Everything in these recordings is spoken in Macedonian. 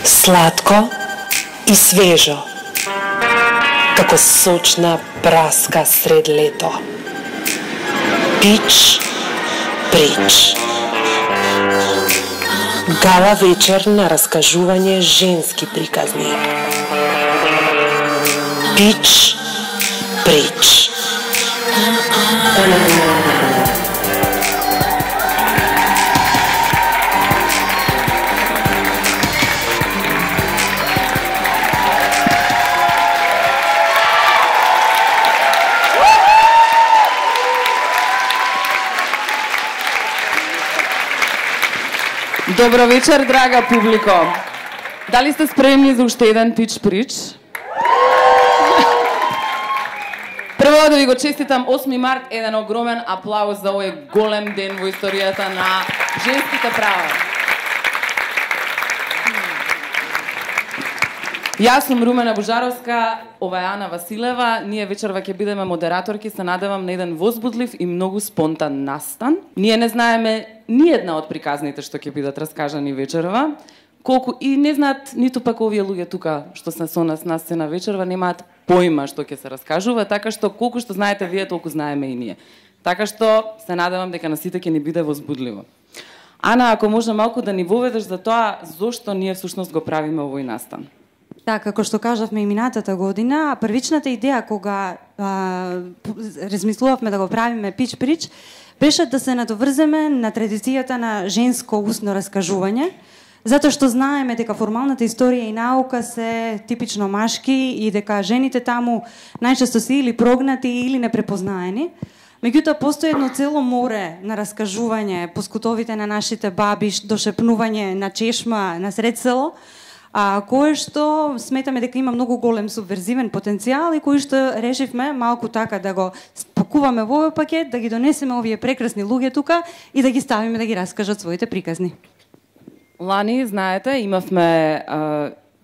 Сладко и свежо, како сочна праска сред лето. Пич, прич. Гала вечер на раскажување женски приказни. Пич, прич. Добро вечер, драга публико. Дали сте спремни за уште еден пич прич? Прво да ви го честитам 8 март, еден огромен аплауз за овој голем ден во историјата на женските права. Јас сум Румена Божаровска, ова е Ана Василева. Ние вечерва ќе бидеме модераторки, се надевам на еден возбудлив и многу спонтан настан. Ние не знаеме ни една од приказните што ќе бидат раскажани вечерва, колку и не знаат ниту пак овие луѓе тука што се со нас на сцена вечерва немаат појма што ќе се раскажува, така што колку што знаете вие, толку знаеме и ние. Така што се надевам дека на сите ќе ни биде возбудливо. Ана, ако може малку да ни воведеш за тоа зошто ние всушност го правиме овој настан. Така, како што кажавме и минатата година, првичната идеја кога размислувавме да го правиме пич прич, беше да се надоврземе на традицијата на женско устно раскажување, затоа што знаеме дека формалната историја и наука се типично машки и дека жените таму најчесто се или прогнати или непрепознаени. Меѓутоа постои едно цело море на раскажување по скутовите на нашите баби, дошепнување на чешма на сред село, кое што сметаме дека има многу голем субверзивен потенцијал и кој што решивме малку така да го спакуваме во овој пакет, да ги донесеме овие прекрасни луѓе тука и да ги ставиме да ги раскажат своите приказни. Лани, знаете, имавме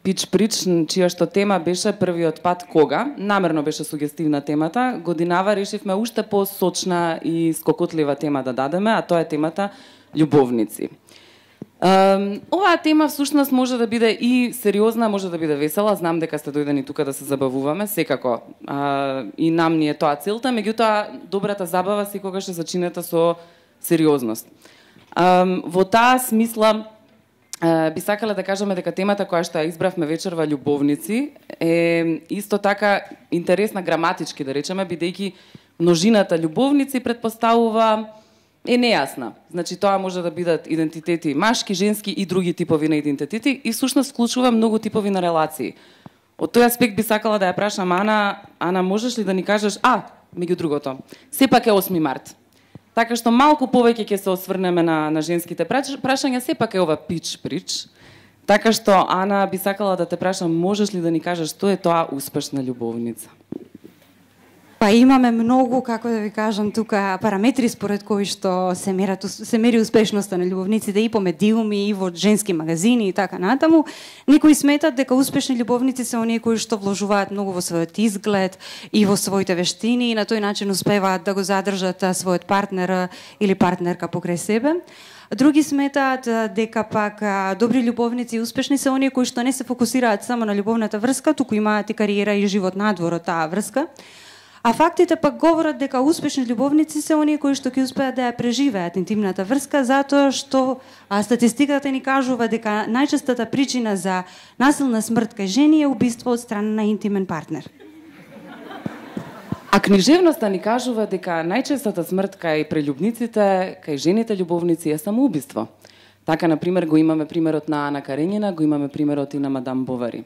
пич прич, чија што тема беше првиот пат кога. Намерно беше сугестивна темата. Годинава решивме уште посочна и скокотлива тема да дадеме, а тоа е темата љубовници. Оваа тема всушност може да биде и сериозна, може да биде весела. Знам дека сте дојдени тука да се забавуваме, секако. И нам ни е тоа целта, меѓутоа добрата забава секогаш е зачинета со сериозност. Во таа смисла би сакале да кажеме дека темата која што ја избравме вечерва љубовници е исто така интересна граматички, да речеме, бидејќи множината љубовници предпоставува е нејасна. Значи тоа може да бидат идентитети машки, женски и други типови на идентитети и всушност вклучува многу типови на релации. Од тој аспект би сакала да ја прашам Ана, можеш ли да ни кажеш, меѓу другото, сепак е 8 март. Така што малку повеќе ќе се осврнеме на женските прашања, сепак е ова пич прич. Така што Ана би сакала да те прашам, можеш ли да ни кажеш што е тоа успешна љубовница? Па имаме многу, како да ви кажам, тука параметри според кои што се мери успешноста на љубовниците и по медиуми, и во женски магазини и така натаму. Некои сметат дека успешни љубовници се оние кои што вложуваат многу во својот изглед и во своите вештини и на тој начин успеваат да го задржат својот партнер или партнерка покрај себе. Други сметаат дека пак добри љубовници и успешни се оние кои што не се фокусираат само на љубовната врска, туку имаат и кариера и живот надвор од таа врска. А фактите пак говорат дека успешни љубовници се оние кои што ќе успеат да ја преживеат интимната врска, затоа што статистиката ни кажува дека најчестата причина за насилна смрт кај жени е убиство од страна на интимен партнер. А книжевноста ни кажува дека најчестата смрт кај прељубниците, кај жените љубовници е самоубиство. Така, например, го имаме примерот на Ана Каренина, го имаме примерот и на мадам Бовари.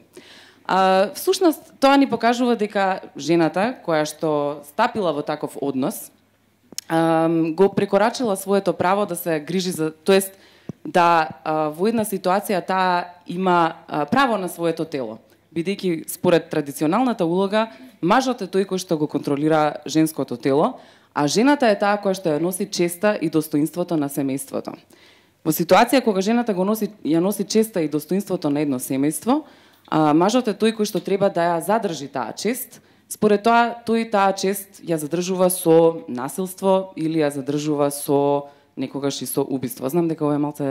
Всушност, тоа ни покажува дека жената, која што стапила во таков однос, го прекорачила своето право да се грижи за, тоест да во една ситуација таа има право на своето тело, бидејќи според традиционалната улога, мажот е тој кој што го контролира женското тело, а жената е таа која што ја носи честа и достоинството на семејството. Во ситуација кога жената ја носи честа и достоинството на едно семејство, мажот е тој кој што треба да ја задржи таа чест, Според тоа, тој таа чест ја задржува со насилство или ја задржува со некогаш и со убиство. Знам дека ова е малце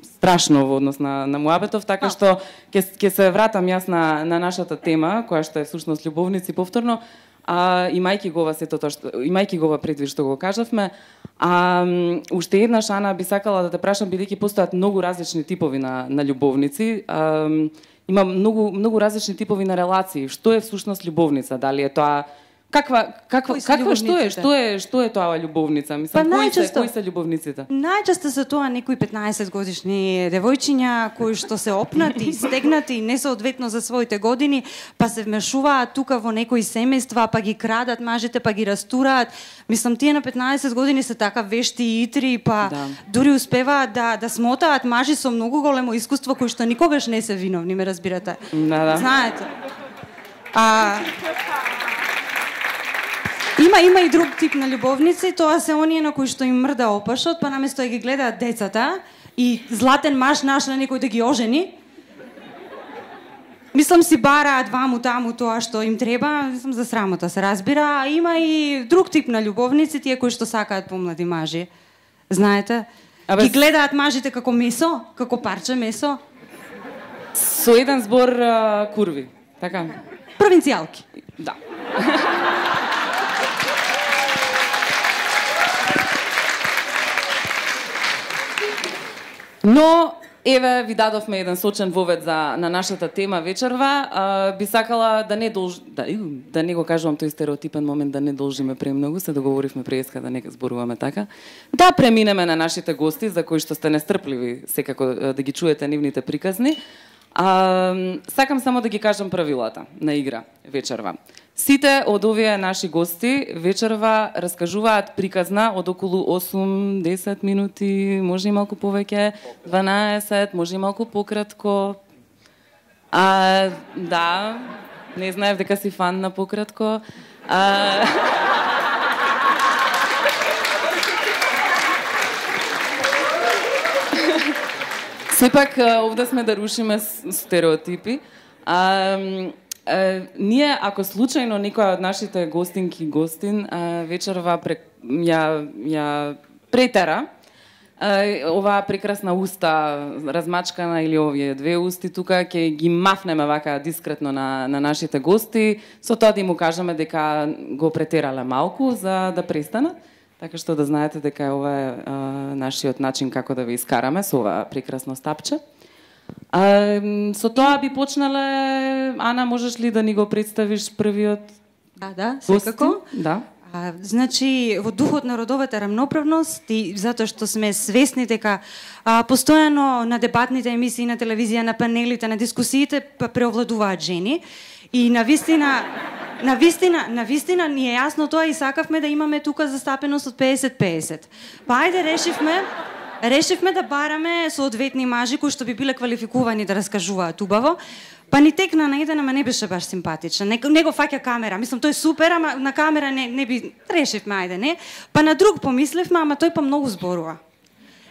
страшно во однос на муабетов, така што ќе се вратам јас на нашата тема, која што е всушност љубовници повторно, имајќи го ова сето тоа што имајќи го ова предвид што го кажавме, уште еднаш, Ана, би сакала да те прашам, бидејќи постојат многу различни типови на љубовници, има многу различни типови на релации. Што е всушност љубовница? Дали е тоа што е тоа љубовница? Мислам, кои се љубовниците? Најчесто се тоа некои 15 годишни девојчиња кои што се опнати, стегнати, несоодветно за своите години, па се вмешуваат тука во некои семејства, па ги крадат мажите, па ги растураат. Мислам, тие на 15 години се така вешти и итри, па дури успеваат да смотаат мажи со многу големо искуство кои што никогаш не се виновни, ме разбирате? Знаете? Има и друг тип на љубовници, тоа се оние на кои што им мрда опашот, па наместо да ги гледаат децата и златен маж нашла некој да ги ожени. Мислам, си бараат ваму таму тоа што им треба, мислам, за срамота се разбира, а има и друг тип на љубовници, тие кои што сакаат помлади мажи. Знаете? Ги гледаат мажите како месо, како парче месо. Со еден збор курви, така? Провинцијалки. Да. Но, еве, ви дадовме еден сочен вовед на нашата тема вечерва. Би сакала да не го кажувам тој стереотипен момент, да не должиме премногу, се договоривме преска да не зборуваме така. Да преминеме на нашите гости, за кои што сте нестрпливи секако да ги чуете нивните приказни. Сакам само да ги кажам правилата на игра вечерва. Сите од овие наши гости вечерва раскажуваат приказна од околу 8-10 минути, може и малку повеќе, 12, може и малку пократко. Да, не знаев дека си фан на пократко. Сепак, овде сме да рушиме стереотипи. Ние, ако случајно некоја од нашите гостинки и гостин вечерва ја претера, оваа прекрасна уста размачкана или овие две усти тука, ќе ги мафнеме вака дискретно на нашите гости, со тоа да им кажеме дека го претерале малку за да престанат. Така што да знаете дека ова е нашиот начин како да ви искараме со ова прекрасно стапче. Со тоа би почнале, Ана, можеш ли да ни го представиш првиот? Да, секако. Да. Значи, во духот на родовата рамноправност и затоа што сме свесни дека постојано на дебатните емисии на телевизија, на панелите, на дискусиите преовладуваат жени и на вистина ни е јасно тоа и сакавме да имаме тука застапеност од 50-50. Па ајде решивме да бараме соодветни мажи кои што би биле квалификувани да раскажуваат убаво. Па ни текна на еден, ама не беше баш симпатичен. Не го фаќа камера. Мислам, тој е супер, ама на камера не би решивме, ајде, не. Па на друг помисливме, ама тој па многу зборува.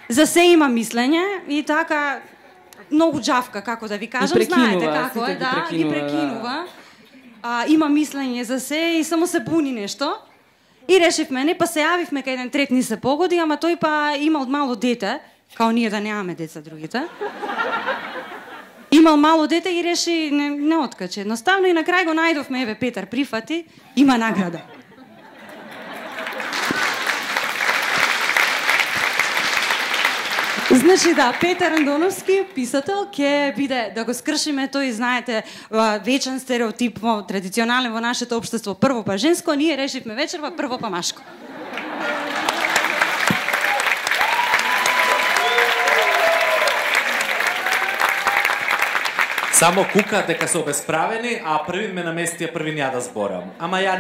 За се има мислење и така многу џавка, како да ви кажам, знаете како е, да, ги прекинува. Има мислење за се и само се буни нешто. И решивме, не, па се јавивме кај еден трет ни се погоди, ама тој па имал мало дете, као ние да немаме деца другите. Имал мало дете и реши не откачи. Едноставно и на крај го најдовме, еве Петар прифати, има награда. Значи да, Петар Андоновски, писател, ќе биде да го скршиме тој, знаете, вечен стереотип традиционален во нашето општество, прво па женско, ние решивме вечерва прво па машко. Само кука дека се обесправени, а првин ме намести, а првин ја да зборам. Ама ја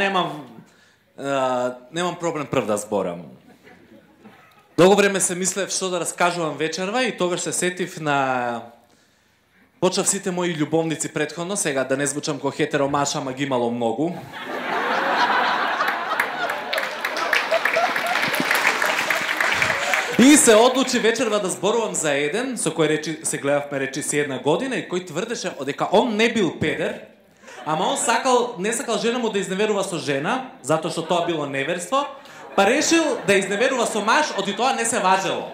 немам проблем прв да зборам. Долго време се мислев што да раскажувам вечерва и тогаш се сетив на... Почнав сите мои љубовници претходно, сега да не звучам ко хетеромаш, ама ги имало многу. И се одлучи вечерва да зборувам за еден, со кој се гледавме речиси 1 година и кој тврдеше дека он не бил педер, Ама он не сакал жена му да изневерува со жена, затоа што тоа било неверство, па решил да изневерува со маж, оди тоа не се важело.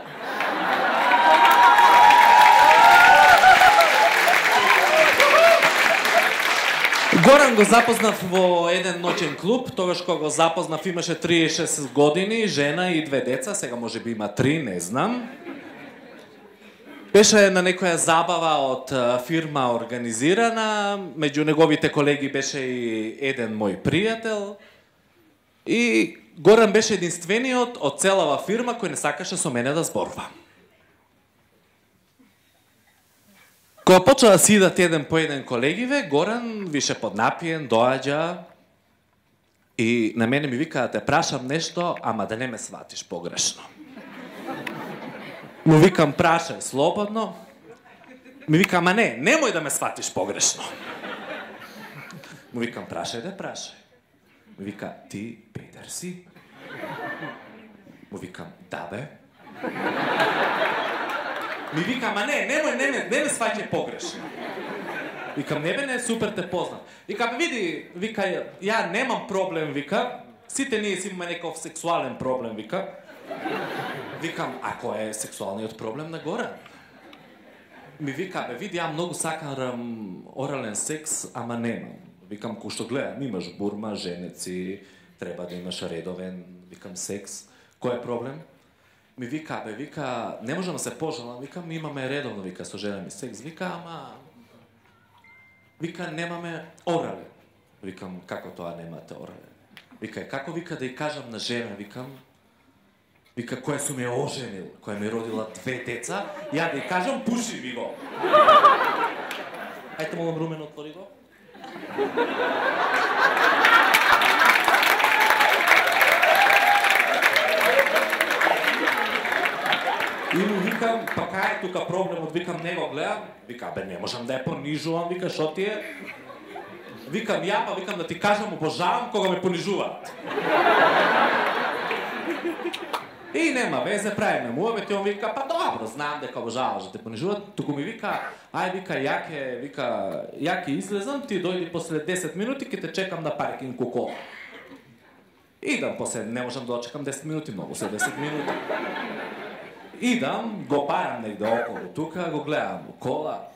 Горан го запознав во еден ноќен клуб, тогаш кога го запознав имаше 36 години, жена и 2 деца, сега може би има 3, не знам. Беше на некоја забава од фирма организирана, меѓу неговите колеги беше и еден мој пријател. И Горан беше единствениот од целава фирма кој не сакаше со мене да зборува. Кога почна да си идат еден по еден колегиве, Горан више поднапиен, доаѓа и на мене ми вика да те прашам нешто, ама да не ме сватиш погрешно. Му викам прашај слободно. Ми вика, ама не, немој да ме сватиш погрешно. Му викам прашај да прашај. Ми вика, ти педер си? Му викам, да бе. Ми вика, ама не ме сваќај погрешно. Викам, не бе, не, супер те познам. Вика, види, вика, ја немам проблем, вика, сите ние си имаме некој сексуален проблем, вика. Викам, а кој е сексуалниот проблем на Горан? Ми вика, бе, види, ја многу сакам орален секс, ама немам. Викам, кој што гледам, имаш бурма, женеци, треба да имаш редовен, викам, секс. Кој е проблем? Ми вика, бе, вика, не можам да се пожалам, викам, имаме редовно, вика, со жена ми секс, вика, ама... Вика, немаме орален. Викам, како тоа немате орален? Вика, како, вика, да ја кажам на жена, викам, вика, која сум ја оженил, која ми родила 2 деца, ја да ја кажам, пуши ми го. Ајте, молам, Румен, отвори го. И му викам, па кај е тука проблемот, викам, не го гледам, вика, бе, не можам да ја понижувам, вика, шо ти е? Викам, ја, па викам да ти кажам, обожавам кога ме понижуваат. И нема везе, правиме муавет, и он вика, па добро, знам дека обожаваш да те понижуват, туку ми вика, ај, вика, ја ќе излезам, ти дојди после 10 минути, ке те чекам на паркинг кола. Идам после, не можам да очекам 10 минути, многу се 10 минути. Идам, го парам негде околу тука, го гледам у кола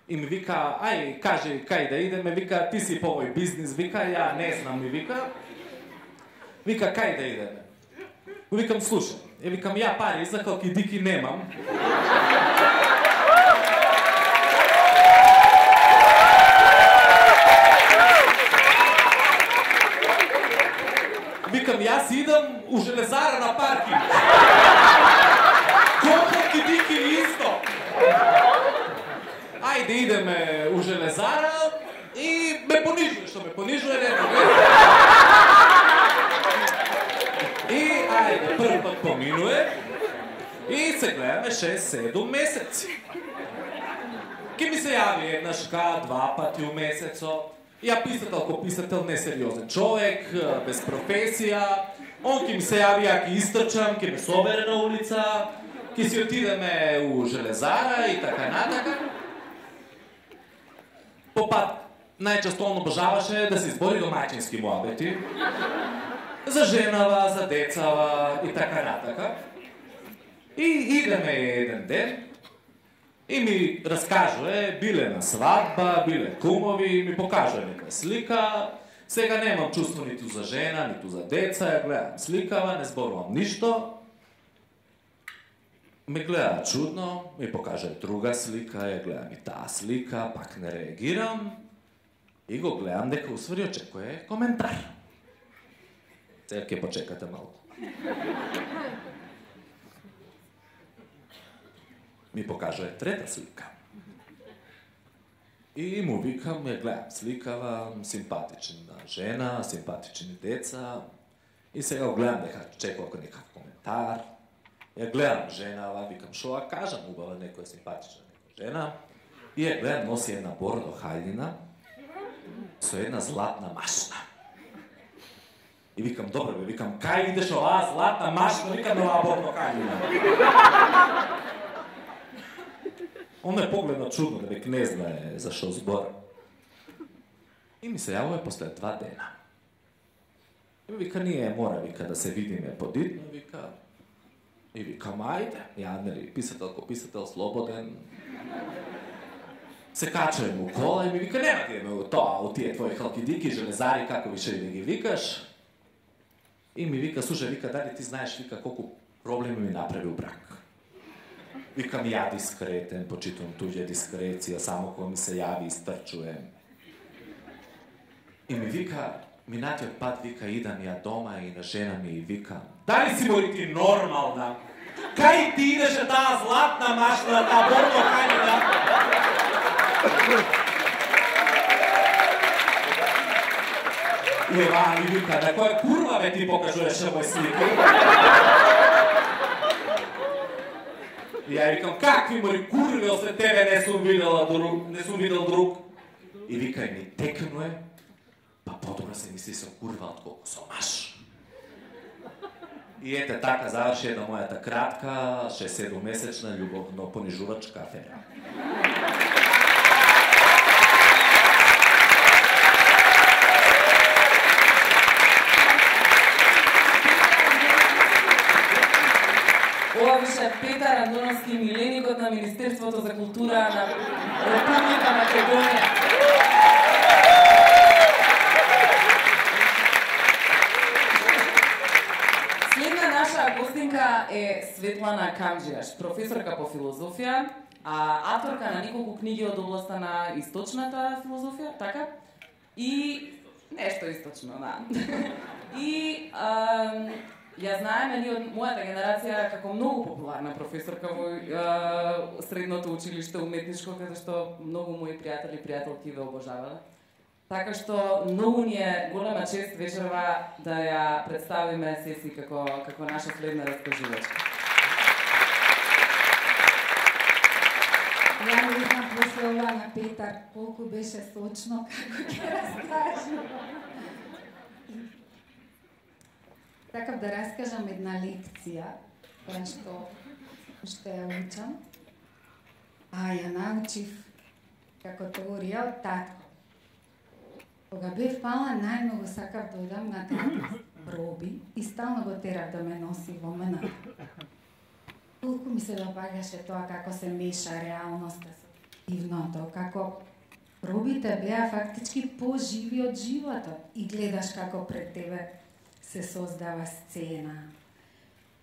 и ми вика, ај, кажи кај да идеме, вика, ти си по овој бизнис, вика, ја не знам, ми вика, кај да идеме? Викам, слушай, викам, ја пари за колки дики немам. Викам, јас идам у железара на паркинг. Колки дики исто. Ајде идеме у железара и ме понижуе, што ме понижуе, не. И ајде, прв пат поминуе и се гледаме 6-7 месеци. Ке ми се јави еднашка, 2 пати у месецо. Ја писател ко писател, несериозен човек, без професија. Он ке ми се јави, ја ке истрчам, ке ме собере на улица, ке си отидеме у железара и така натака. По пат, најчесто он обожаваше да се избори домаќински муабети. За женава, за децава и така натака. И идеме еден ден и ми раскажува, биле на свадба, биле кумови, ми покажува нека слика. Сега немам чувство ниту за жена, ниту за деца, ја гледам сликава, не зборувам ништо. Ме гледа чудно, ми покажува друга слика, ја гледам и таа слика, пак не реагирам. И го гледам дека усвари очекува коментар. Сега ќе почекате малку. Ми покажува трета слика. И му викам, ја гледам сликава, симпатична жена, симпатични деца. И сега го гледам дека чекува некаков коментар. Ја гледам женава, викам, шо ја кажам, убава некоја симпатична жена. И ја гледам, носи една бордо хајлина со една златна машна. И викам, добре бе, викам, кај идеш оваа златна машна, викам, оваа бордо хајлина. Он ме погледна чудно, дека не знае за шо збора. И ми се јавува после 2 дена. И ми вика, ние мора, вика, да се видиме подитно, вика. И викам, ајде, ја, нели, писател ко писател, слободен. Се качуем у кола и ми вика, нема ти у тоа, у тие твои халкидики, железари, како више да ги викаш. И ми вика, слушај, вика, дали ти знаеш, вика, колку проблеми ми направи у брак. Викам, ја дискретен, почитувам туѓа дискреција, само кога ми се јави, истрчуjem. И ми вика, минатиот пат, вика, идам ја дома и на жена ми и вика, дали си мори ти нормална? Кај ти идеше таа златна машина, таа борно канина? И ева ми вика, на која курва бе ти покажуваше мој слики? И ја викам, какви мори курви, ослед тебе не сум видел друг. И вика, и ми текнуе, па подобро се мисли со курва отколку со маш. И ете така заврши една мојата кратка, 6-7-месечна љубовно понижувачка афера. Ова беше Петар Андоновски, миленикот на Министерството за култура на Република Македонија. Следна наша гостинка е Светлана Камџијаш, професорка по филозофија, авторка на неколку книги од областа на источната филозофија, така? И нешто источно, да. И ја знаеме ние од мојата генерација како многу популарна професорка во средното училиште уметничко, каде што многу мои пријатели и пријателки ве обожавале. Така што многу ни е голема чест вечерва да ја представиме Сеси како наша следна раскажувачка. Ја не видам после ова на Петар колку беше сочно како ќе раскажа. Така да раскажам една лекција, која што ја учам, ја научив како теорија од татко. Кога бев мала, најмногу сакав да одам на татко проби и стално го терав да ме носи во мене. Толку ми се допаѓаше тоа како се меша реалноста со дивното, како пробите беа фактички поживи од животот и гледаш како пред тебе се создава сцена.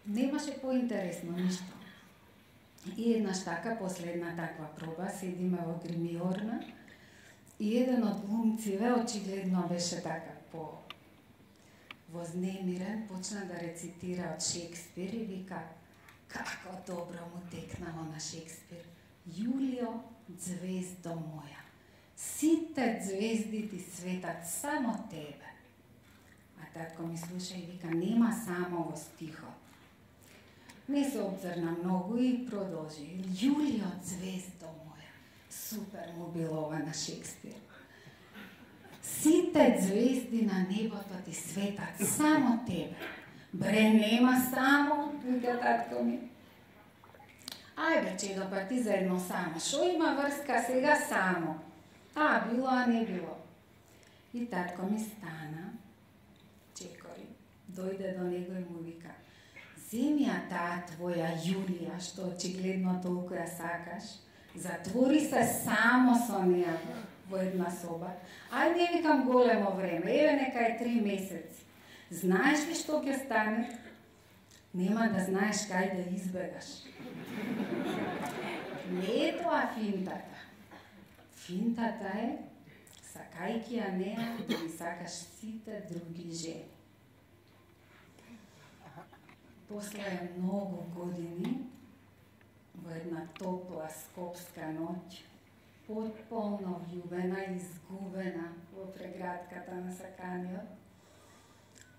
Немаше поинтересно ништо. И еднаш така, последна таква проба, седиме во гримиорна и еден од глумциве очигледно беше така вознемирен, почна да рецитира од Шекспир и вика, како добро му текнало на Шекспир. Јулио, звездо моја, сите звезди ти светат само тебе. А татко ми слуша и вика, нема само во стихот. Не се обзрна многу и продолжи. Јулио, звездо моја, супер му било ова на Шекспир. Сите звезди на небото ти светат само тебе. Бре, нема само, вика татко ми. Ајде, чедо, па ти за едно само. Шо има врска сега само? Било, а не било. И татко ми стана, чекори, дојде до него и му вика, земи ја таа твоја Јулија, што очигледно толку ја сакаш, затвори се само со неја во една соба. Ајде, викам, големо време, еве нека е 3 месеци. Знаеш ли што ќе стане? Нема да знаеш кај да избегаш. Не е тоа финтата. Финтата е, сакајќи ја неа, да ги сакаш сите други жени. После многу години, во една топла скопска ноќ, потполно влюбена и изгубена во преградката на саканиот,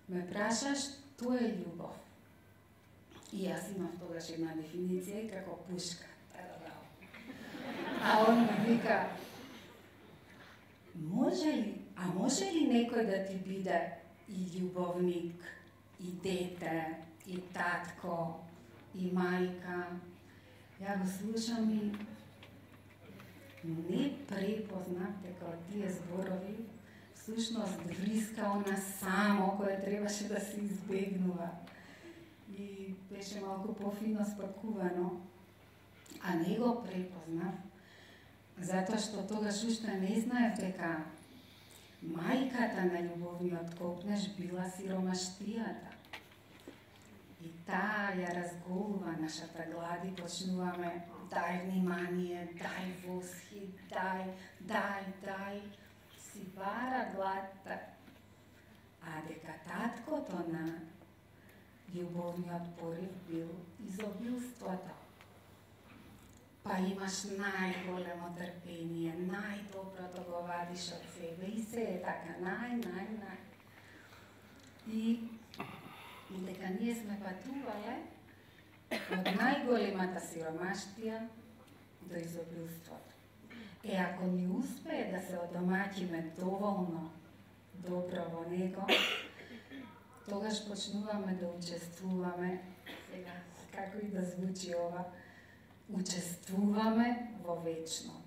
ме прашаш, тоа е љубов. И јас имав тогаш една дефиниција како пушка. А он ми вика, може ли некој да ти биде и љубовник, и дете, и татко, и мајка? Ја го слушам и не препознав дека од тие зборови всушност вриска она само кое требаше да се избегнува. И беше малку пофино спакувано, а не го препознав, затоа што тогаш уште не знаев дека мајката на љубовниот копнеж била сиромаштијата. И таа ја разголува нашата глад и почнуваме дај внимание, дај восхит, дај, си бара гладта. А дека таткото на љубовниот порив бил изобилството. Па имаш најголемо трпение, најдоброто го вадиш од себе и се е така, нај. И дека ние сме патувале од најголемата сиромаштија до изобилството. Ако ни успее да се одомаќиме доволно добро во него, тогаш почнуваме да учествуваме, сега, како и да звучи ова, учествуваме во вечното.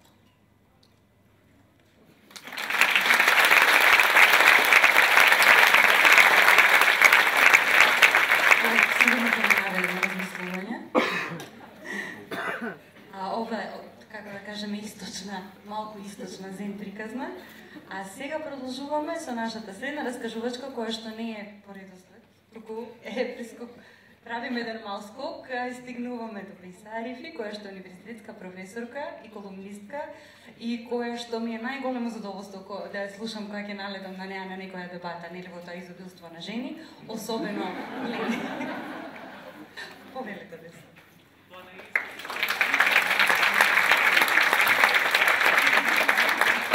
Ова е, како да кажеме, источна, малку источна зен приказна. А сега продолжуваме со нашата средна раскажувачка, која што не е по редослед, туку е прискок. Правиме еден мал скок и стигнуваме до Пейса Арифи, која што е универзитетска професорка и колумнистка и која што ми е најголемо задоволство да ја слушам кога ќе налетам на неа на некоја дебата, нели во тоа изобилство на жени, особено Лени. Повелете да се.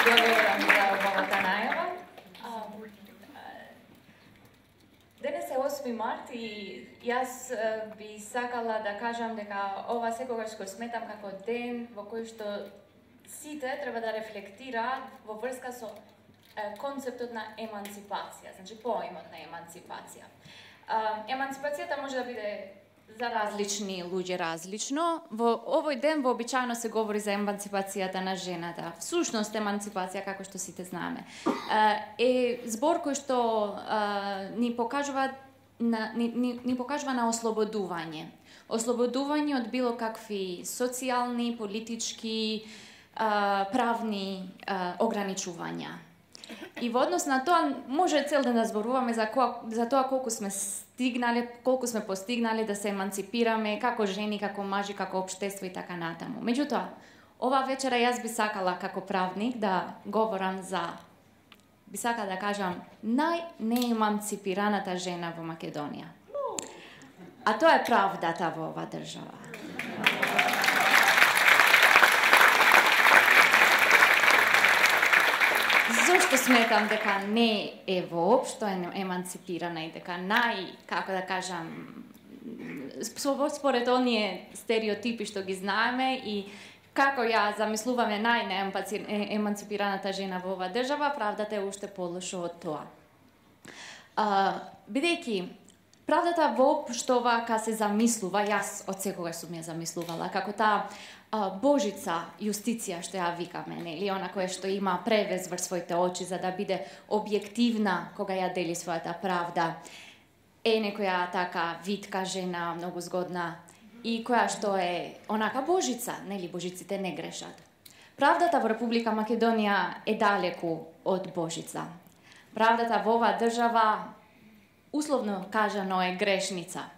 Благодарам за оваа најава. Денес е 8 март и јас би сакала да кажам дека ова секогаш го сметам како ден во кој што сите треба да рефлектираат во врска со концептот на емансипација, значи поимот на емансипација. Емансипацијата може да биде за различни луѓе различно. Во овој ден вообичаено се говори за емансипацијата на жената. Всушност емансипација, како што сите знаеме, е збор кој што ни покажува на ослободување. Ослободување од било какви социјални, политички, правни ограничувања. И во однос на тоа може цел ден да зборуваме за тоа колку сме постигнале да се емансипираме како жени, како мажи, како општество и така натаму. Меѓутоа, ова вечера јас би сакала како правник да говорам би сакала да кажам најнеемансипираната жена во Македонија. А тоа е правдата во оваа држава. Зошто сметам дека не е воопшто емансипирана и дека како да кажам, според оние стереотипи што ги знаеме и како ја замислуваме најнеемансипираната жена во оваа држава, правдата е уште полошо од тоа. Бидејќи правдата воопшто овака се замислува, јас од секогаш сум ја замислувала, како таа Божица јустиција што ја викаме, нели, она која што има превез врз своите очи за да биде објективна кога ја дели својата правда. Е некоја така витка жена, многу згодна и која што е онака Божица, нели, Божиците не грешат. Правдата во Република Македонија е далеку од Божица. Правдата во оваа држава, условно кажано, е грешница,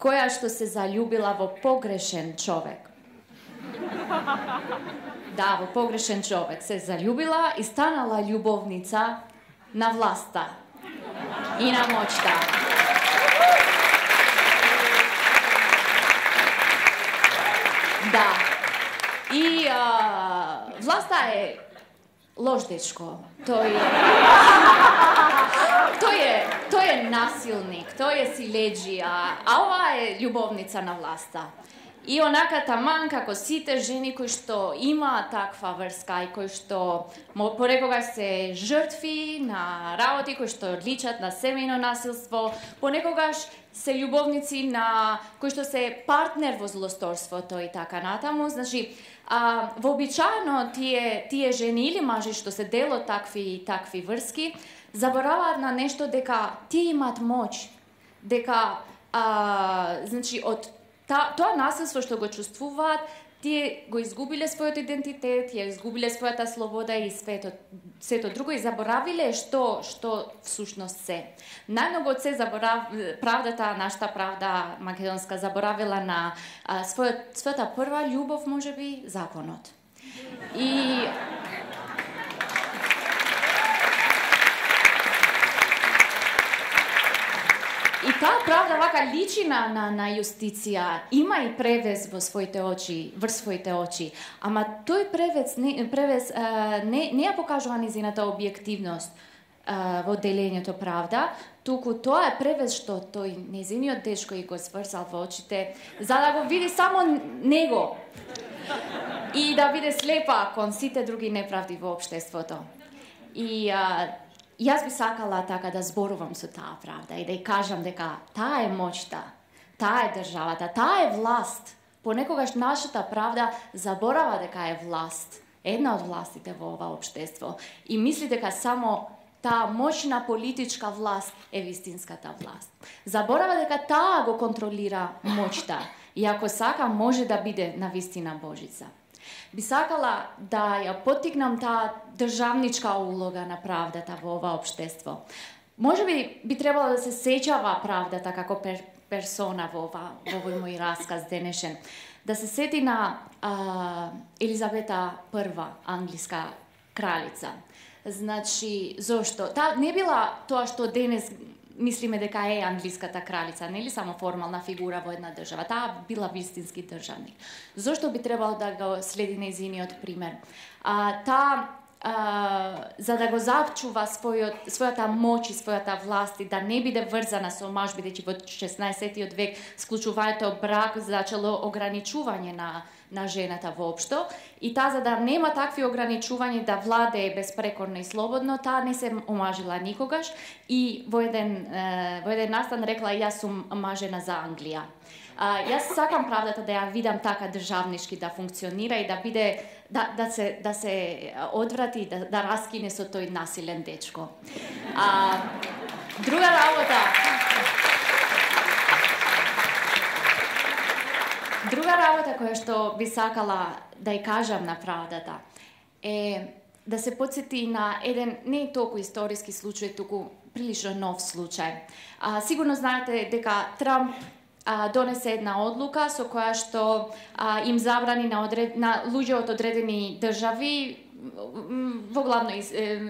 која што се заљубила во погрешен човек. Да, во погрешен човек се заљубила и станала љубовница на власта и на моќта. Да. И власта е лош дечко. Тој е насилник, тој е силеџија, а ова е љубовница на власта. И онака таман како сите жени кои што има таква врска и кои што понекогаш се жртви на работи кои што личат на семејно насилство, понекогаш се љубовници на кои што се партнер во злосторството и така натаму. Значи, вообичаено тие жени или мажи што се дел од такви врски, забораваат на нешто дека тие имаат моќ, дека значи од тоа насилство што го чувствуваат, тие го изгубиле својот идентитет, ја изгубиле својата слобода и сето друго и заборавиле што всушност се. Најмногу од се правдата, нашата правда македонска заборавила на својата прва љубов, можеби, законот. И таа правда вака личи на јустиција, има и превес врз своите очи, ама тој превес не ја покажува незината објективност во делењето правда, туку тоа е превес што тој незиниот дечко и го сврзал во очите, за да го види само него и да биде слепа кон сите други неправди во општеството. И јас би сакала така да зборувам со таа правда и да ја кажам дека таа е моќта, таа е државата, таа е власт. Понекогаш нашата правда заборава дека е власт, една од властите во ова општество и мисли дека само таа моćна политичка власт е вистинската власт. Заборава дека таа го контролира моќта и ако сака може да биде навистина Божица. Би сакала да ја поттикнам таа државничка улога на правдата во ова општество. Може би требало да се сеќава правдата како персона во овој мој расказ денешен. Да се сети на Елизавета I, англиска кралица. Значи, зошто? Таа не била тоа што денес мислиме дека е англиската кралица, нели само формална фигура во една држава. Таа била вистински државник. Зошто би требало да го следи нејзиниот пример? За да го зачува својата моќ и својата власт и да не биде врзана со маж, бидејќи во 16 век склучувањето брак зачело ограничување на жената воопшто, и таа за да нема такви ограничувања да владее безпрекорно и слободно, таа не се омажила никогаш и во еден настан рекла јас сум мажена за Англија. Јас сакам правдата да ја видам така државнички да функционира и да биде да се одврати да раскине со тој насилен дечко. Друга работа која што би сакала да ја кажам на правдата е да се потсети на еден не толку историски случај, туку прилично нов случај. Сигурно знаете дека Трамп донесе една одлука со која што им забрани на луѓе од одредени држави, во главно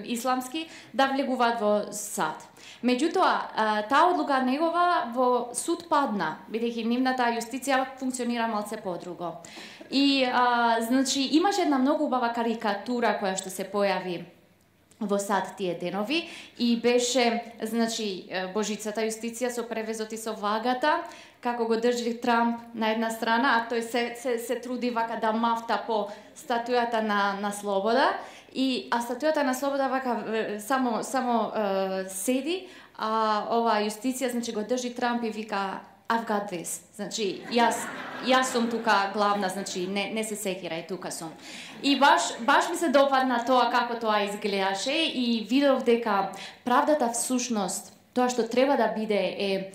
исламски, да влегуваат во САД. Меѓутоа, таа одлука негова во суд падна, бидејќи нивната јустиција функционира малце подруго. И, значи, имаше една многу убава карикатура која што се појави во САД тие денови и беше, значи, Божицата јустиција со превезот и со вагата, како го држи Трамп на една страна, а тој се труди вака да мафта по статујата на слобода, а статујата на слобода вака само седи, а ова јустиција, значи, го држи Трамп и вика I've got this. Значи, јас сум тука главна, значи, не се секирај, тука сум. И баш ми се допадна тоа како тоа изгледаше и видов дека правдата всушност, тоа што треба да биде е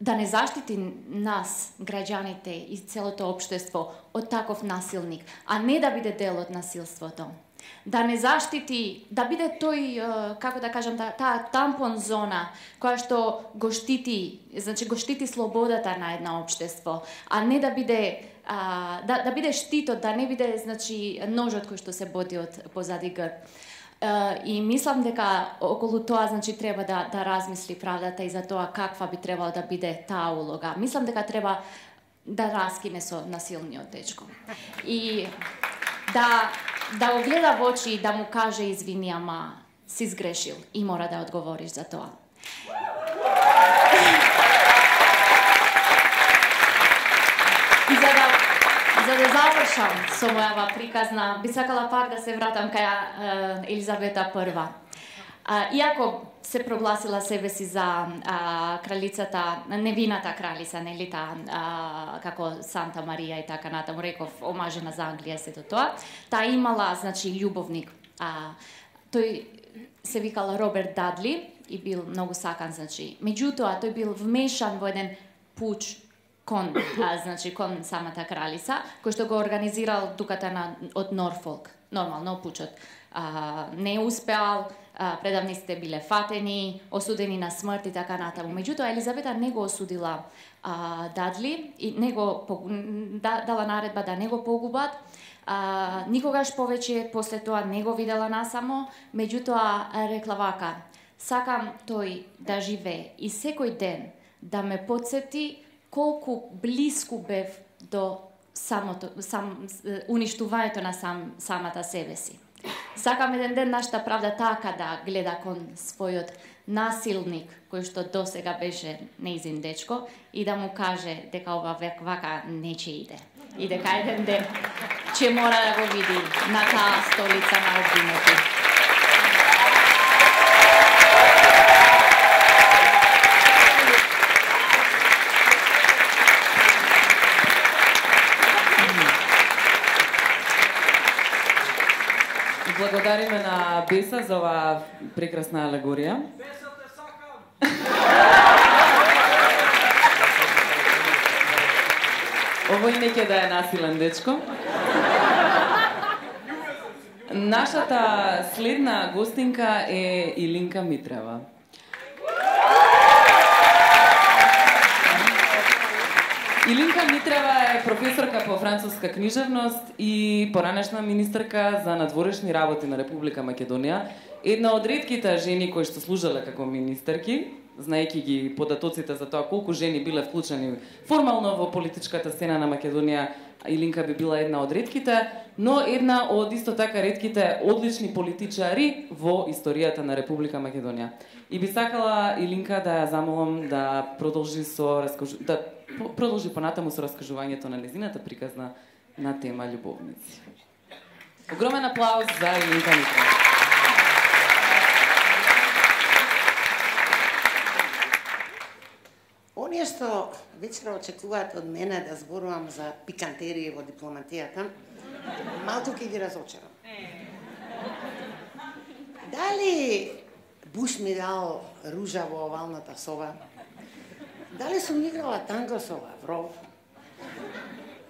да не заштити нас, граѓаните и целото општество од таков насилник, а не да биде дел од насилството. Да не заштити, да биде тој, како да кажам, таа тампон зона која што го штити, значи го штити слободата на една општество, а не да биде да биде штитот, да не биде, значи, ножот кој што се боди од позади грб. И мислам дека околу тоа, значи, треба да размисли правдата и за тоа каква би требало да биде таа улога. Мислам дека треба да раскине со насилниот дечко. И да го гледа во очи и да му каже извини, ама си сгрешил и мора да одговориш за тоа. И завршам со мојава приказна. Би сакала пак да се вратам кај Елизавета I. Иако се прогласила себе си за кралицата, невината кралица, нели како Санта Марија и така натаму, реков, омажена за Англија, сето тоа. Таа имала, значи, љубовник. Тој се викал Роберт Дадли и бил многу сакан, значи. Меѓутоа, тој бил вмешан во еден пуч кон самата кралица, кој што го организирал дуката од Норфолк. Нормално, пучот не успеал, предавниците биле фатени, осудени на смрт и така натаму. Меѓутоа, Елизавета не го осудила Дадли и не го дала наредба да не го погубат. Никогаш повеќе после тоа не го видела насамо, меѓутоа рекла вака: сакам тој да живее и секој ден да ме потсети колку блиску бев до уништувањето на самата себе си. Сакам еден ден нашата правда така да гледа кон својот насилник, кој што досега беше неизин дечко, и да му каже дека ова вака не ќе иде. И дека еден ден ќе мора да го види на таа столица на обвинети. Благодариме на Беса за оваа прекрасна алегорија. Беса те сакам! Овој не ќе да е насилен дечко. Нашата следна гостинка е Илинка Митрева. Илинка Митрева е професорка по француска книжевност и поранешна министерка за надворешни работи на Република Македонија. Една од ретките жени кои што служеле како министерки, знаејќи ги податоците за тоа колку жени биле вклучени формално во политичката сцена на Македонија, Илинка би била една од ретките, но една од исто така ретките одлични политичари во историјата на Република Македонија. И би сакала Илинка да ја замолам да продолжи понатаму со раскажувањето на незината приказна на тема љубовници. Огромен аплауз за Илинка Митрева. Оние што вечера очекуваат од мене да зборувам за пикантерии во дипломатијата, малку ќе ги разочарам. Дали Буш ми дал ружа во овалната соба? Дали сум играла танго со Лавров?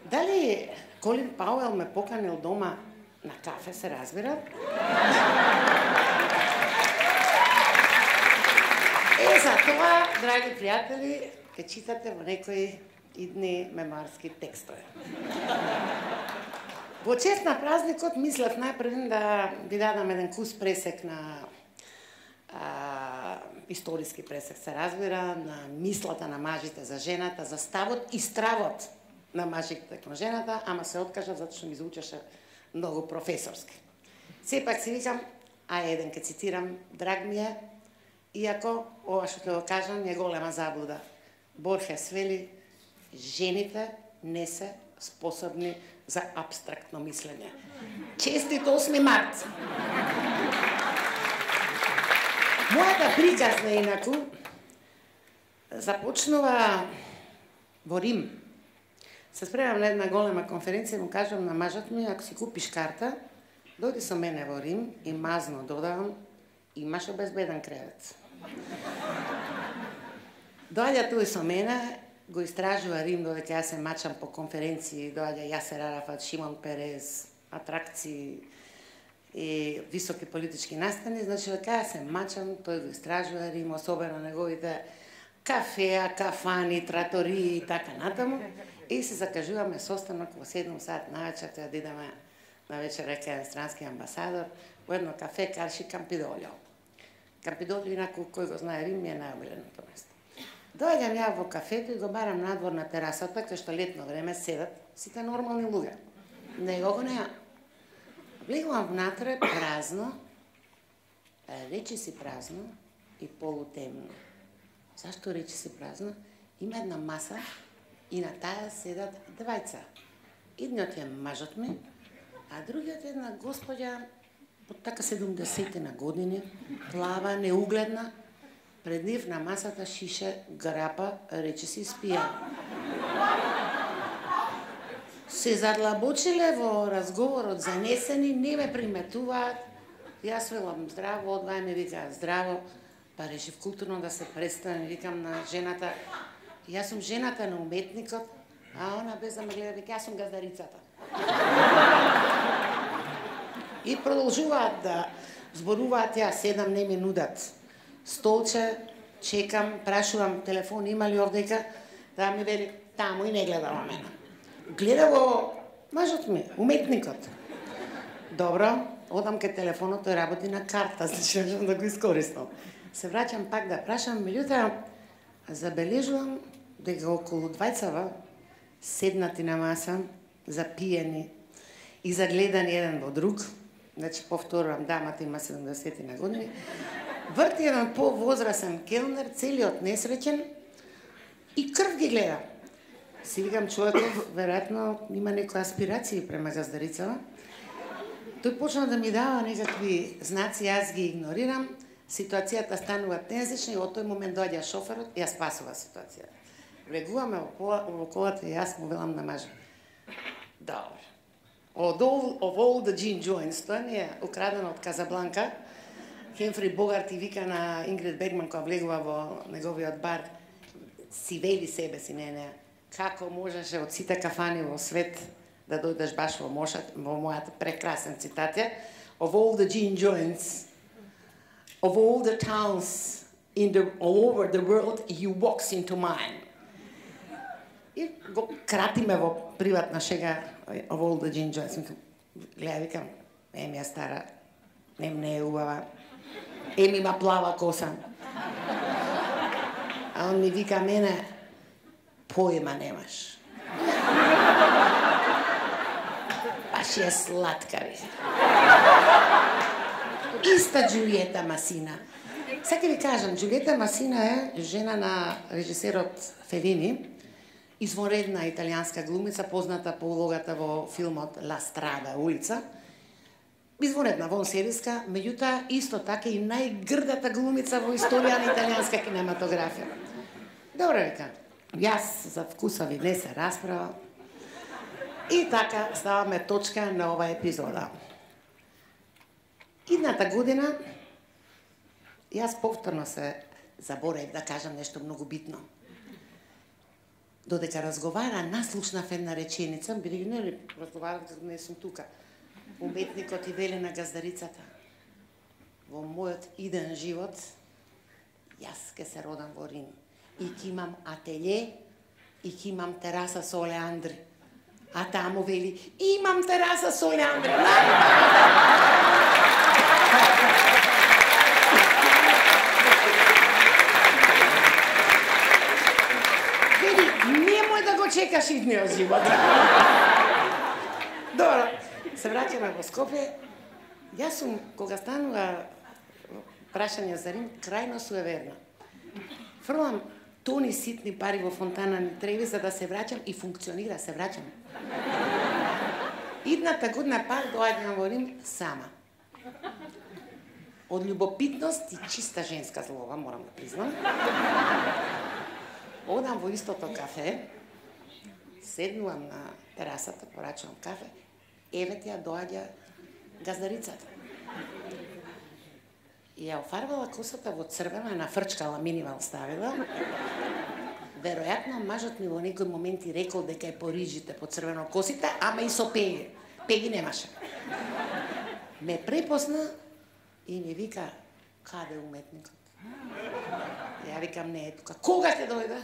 Дали Колин Пауел ме поканил дома на кафе, се разбира? За тоа, драги пријатели, ке читате во некои идни мемоарски текстови. Во чест на празникот мислев најпред да ви дадам еден кус пресек на историски пресек, се разбира, на мислата на мажите за жената, за ставот и стравот на мажите кон жената, ама се откажав затоа што ми звучеше многу професорски. Сепак си викам, еден ке цитирам, драг ми е, иако ова што ќе го кажам е голема заблуда. Борхес вели, жените не се способни за апстрактно мислење. Честит 8 март! Мојата приказна инаку започнува во Рим. Се спремам на една голема конференција и му кажам на мажот ми, ако си купиш карта, дојди со мене во Рим и мазно додавам, имаш обезбеден кревет. Доаѓа тој со мене, го истражува Рим, додека јас се мачам по конференции, доаѓа Јасер Арафат, Шимон Перез, атракции и високи политички настани, значи дека јас се мачам, тој го истражува Рим, особено неговите кафеа, кафани, тратории и така натаму, и се закажуваме состанок во 7 сат навечер, тоа да идеме на вечер кај странски амбасадор, во едно кафе Карши Кампидолио. Кампидолио, инаку кој го знае Рим, е најомиленото место. Доаѓам ја во кафето и го барам надвор на терасата, кај што летно време седат сите нормални луѓе. Него го неа. Влегувам внатре, празно, речи си празно и полутемно. Зашто речи си празно? Има една маса и на таа седат двајца. Едниот е мажот ми, а другиот е една господја од така 70-на години, плава, неугледна, пред нив на масата шише грапа, рече си спија. Се задлабочиле во разговорот занесени, не ме приметуваат. Јас велам здраво, одвај ми вика здраво, па решив културно да се представам, викам на жената, јас сум жената на уметникот, а она без да ме гледа, вика, јас сум газдарицата. И продолжуваат да зборуваат, ја седам, не ми нудат столче, чекам, прашувам телефон, има ли овдека, да ми вели, таму и не гледа во мене. Гледа го мажот ми, уметникот. Добро, одам кај телефонот, тој работи на карта, значи можам да го искористам. Се враќам пак да прашам, меѓутоа забележувам дека околу двајцава седнати на маса, запиени и загледани еден во друг, значи повторувам, дамата има 70 на години, врти еден повозрасен келнер, целиот несреќен и крв ги гледа. Си викам, човеков, веројатно има некои аспирации према газдарицава. Тој почна да ми дава некакви знаци, јас ги игнорирам, ситуацијата станува тензична и од тој момент доаѓа шоферот и ја спасува ситуацијата. Легуваме во колата и јас му велам на мажа. Добро. Of all the gin joints, тоа ми е украдено од Казабланка. Хемфри Богарт и вика на Ингрид Бергман, која влегува во неговиот бар, си вели себе си, не, како можеше од сите кафани во свет да дојдеш баш во мојата прекрасен цитатија. Of all the gin joints, of all the towns all over the world, you walks into mine. И го кратиме во приватна шега of all the gin joints. Гледа, викам, еми ја стара, не е убава, еми има плава коса. А он ми вика мене, поема немаш. Баш е сладка, ви. Иста Джулиета Масина. Сега ви кажам, Джулиета Масина е жена на режисерот Фелини, извонредна италијанска глумица, позната по улогата во филмот Ла Страда, улица. Извонредна, вонсериска, меѓутоа исто така и најгрдата глумица во историја на италијанска кинематографија. Добро века, јас за вкусови не се расправа. И така ставаме точка на ова епизода. Идната година јас повторно се заборев да кажам нешто многу битно. Додека разговара, наслушнав една реченица, бидејќи не разговарав дека не сум тука. Уметникот и вели на газдарицата. Во мојот иден живот, јас ке се родам во Рим. И ке имам ателје, и ке имам тераса со олеандри. А таму вели, имам тераса со олеандри. Вели, немој да го чекаш идниот живот. Добро, се враќаме во Скопје. Јас сум, кога станува прашање за Рим, крајно суеверна. Фрлам тони ситни пари во фонтана ни Треви за да се враќам и функционира, се враќам. Идната година пак доаѓам во Рим сама. Од љубопитност и чиста женска злоба, морам да признам. Одам во истото кафе, седнувам на терасата, порачувам кафе, еве ја доаѓа газдарицата. И ја офарбала косата во црвена, нафрчкала минимал ставила. Веројатно, мажот ми во некој моменти рекол дека е по рижите, по црвено косите, ама и со пеги. Пеги немаше. Ме препозна и ми вика, каде уметникот? Ја викам, не е тука. Кога ќе дојде?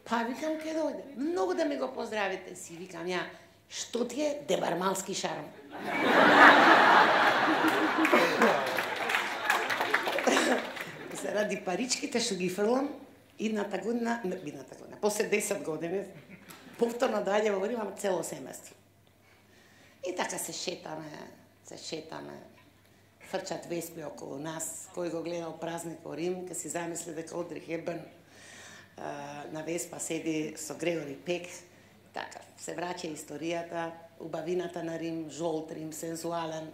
Па викам, ќе дојде. Многу да ми го поздравите. Си викам ја, што ти е дебармалски шарм? Се ради паричките што ги фрлам, идната година, после 10 години, повторно доаѓа во Рим, цело семејство. И така се шетаме, фрчат веспи околу нас, кој го гледал Празник во Рим, ке си замисли дека Одри Хепбърн на веспа седи со Грегори Пек, така, се враќа историјата, убавината на Рим, жолт Рим, сензуален.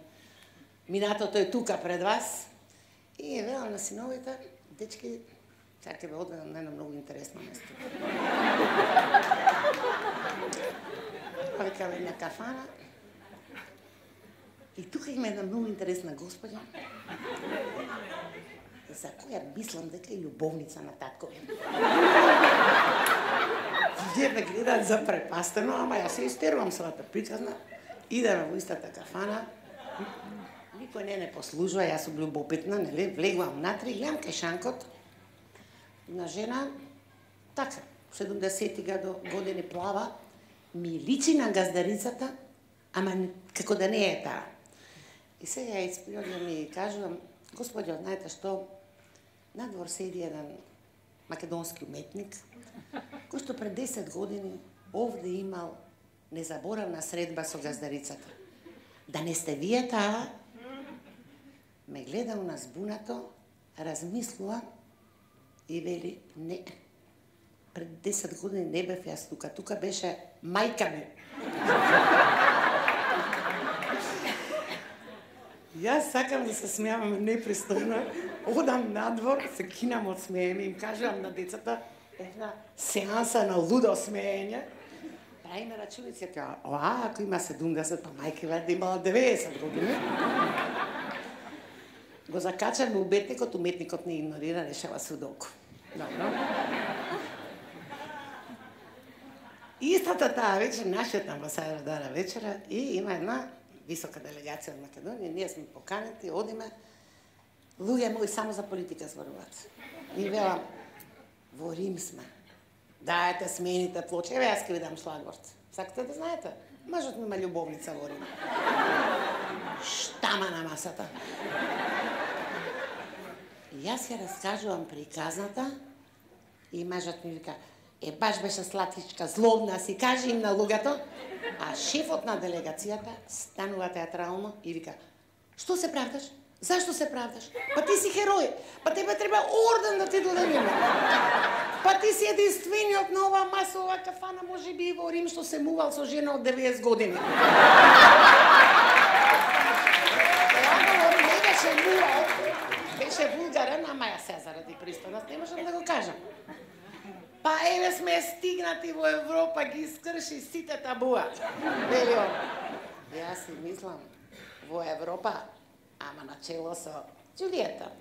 Минатото е тука пред вас. И велам на синовите, дечки, сега ќе ве одведам на едно многу интересно место. Викам една кафана. И тука има една многу интересна господја, за која мислам дека е љубовница на таткови. Вие ме гледаат запрепастено, ама јас се истерувам својата приказна. Идеме во истата кафана, никој не послужува, јас сум љубопитна, нели? Влегувам натри, гледам кај шанкот на жена, така, 70 години плава, ми личи на газдарицата, ама како да не е таа. И сега исприодам и кажувам, господјо, знаете што, надвор седи еден македонски уметник, кој што пред 10 години овде имал незаборавна средба со газдарицата. Да не сте вие таа? Ме гледа у нас збунато, размислува и вели, не, пред 10 години не бев јас тука, тука беше мајка ми. Јас сакам да се смејавам непристојно, одам надвор, се кинам од смеење, им кажувам на децата една сеанса на лудо смеење. Праиме рачуници, ако има 70, па мајка вајде имала 90 години. Го закачаме уметникот не игнорира, решава судоку. Добро. Истата таа вечер, нашиот амбасадор дара вечера и има една висока делегација од Македонија, ние сме поканети, одиме, луѓе мои само за политика зборуваат. И велам, во Рим сме. Дајте, смените плочи, еве јас ќе ви дам шлагворд. Сакате да знаете? Мажот ми има љубовница во Рим. Штама на масата. И јас ја раскажувам приказната и мажот ми вика, баш беше сладичка, злобна, си кажи им на луѓето, а шефот на делегацијата станува театрално и вика, што се правдаш? Зашто се правдаш? Па ти си херој, па тебе треба орден да ти додадеме. Па ти си единствениот на оваа масова кафана, може би и во Рим, што се мувал со жена од 90 години. Не беше мувал, беше вулгарен, ама ја се заради пристојност, не можам да го кажам. Па еве сме стигнати во Европа, ги скрши сите табуа. Вели он. Јас си мислам, во Европа, ама начело со Џулиета.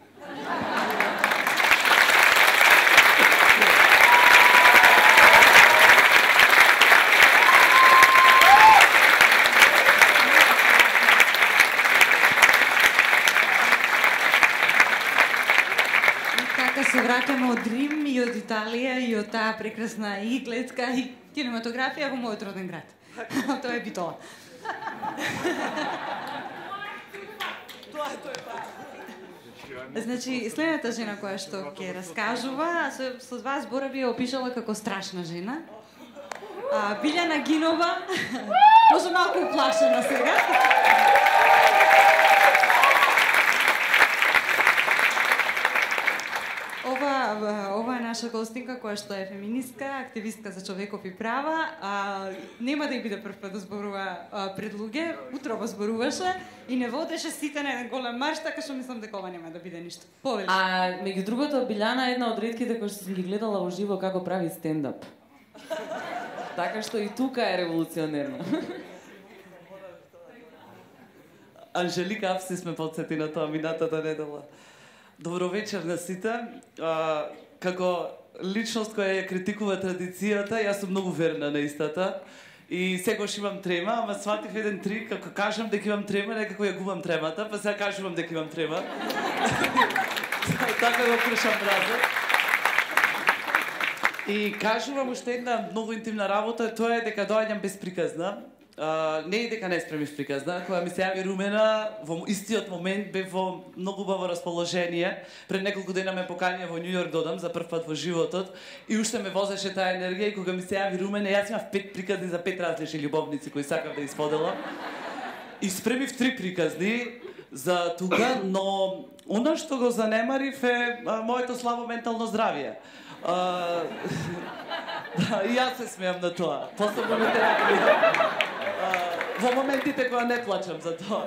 Се враќаме од Рим и од Италија и од таа прекрасна и гледка и кинематографија во мојот роден град. Тоа е Битола. Значи, следната жена која што ќе раскажува, со два зборови ја опишала како страшна жена. Билјана Гинова, може малку уплашена сега. Ова е наша гостинка која што е феминистка, активистка за човекови права. Нема да ја биде прв пат да зборува пред луѓе, утрово зборуваше и не водеше сите на еден голем марш, така што мислам дека ова нема да биде ништо. Повели. Меѓу другото, Билјана е една од ретките кои што сум ги гледала уживо како прави стендап. Така што и тука е револуционерна. Анжелика Апси сме подсети на тоа минатата недела. Добро вечер на сите. Како личност која ја критикува традицијата, јас сум многу верна на истата. И секогаш имам трема, ама сватив еден трик, како кажам дека имам трема, некако ја губам тремата, па сега кажувам дека имам трема. Така го кршам разот. И кажувам уште една многу интимна работа, тоа е дека доаѓам безприказна. Не и дека не спремив приказна, која ми се јави Румена, во истиот момент бев во многу убаво расположение. Пред неколку дена ме поканија во Њу Јорк додам за прв пат во животот и уште ме возеше таа енергија и кога ми се јави Румена, јас имав 5 приказни за 5 различни љубовници кои сакав да исподелам. И спремив 3 приказни за тука, но она што го занемарив е моето слабо ментално здравје. Да, и јас се смеам на тоа. Посебно на терапија. Во моментите кога не плачам за тоа.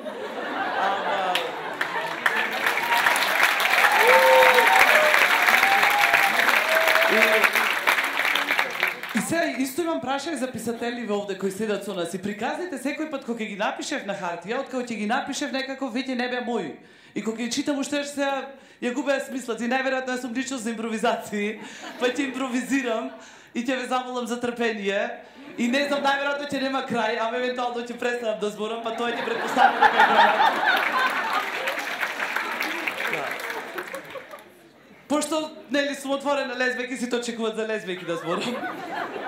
И сега исто имам прашање за писателиве овде кои седат со нас. И приказните секој пат кога ги напишев на хартија, откако ќе ги напишев некако веќе не беа мои. И кога ги читам уште сега ја губеа смислот и најверојатно сум личност за импровизации, па ќе импровизирам и ќе ве замолам за трпение. И не знам, најверојатно ќе нема крај, ама евентуално ќе престанам да зборам, па тоа ќе претпоставам дека е крај. Пошто, нели, сум отворена лесбејки, сите очекуваат за лесбејки да зборам.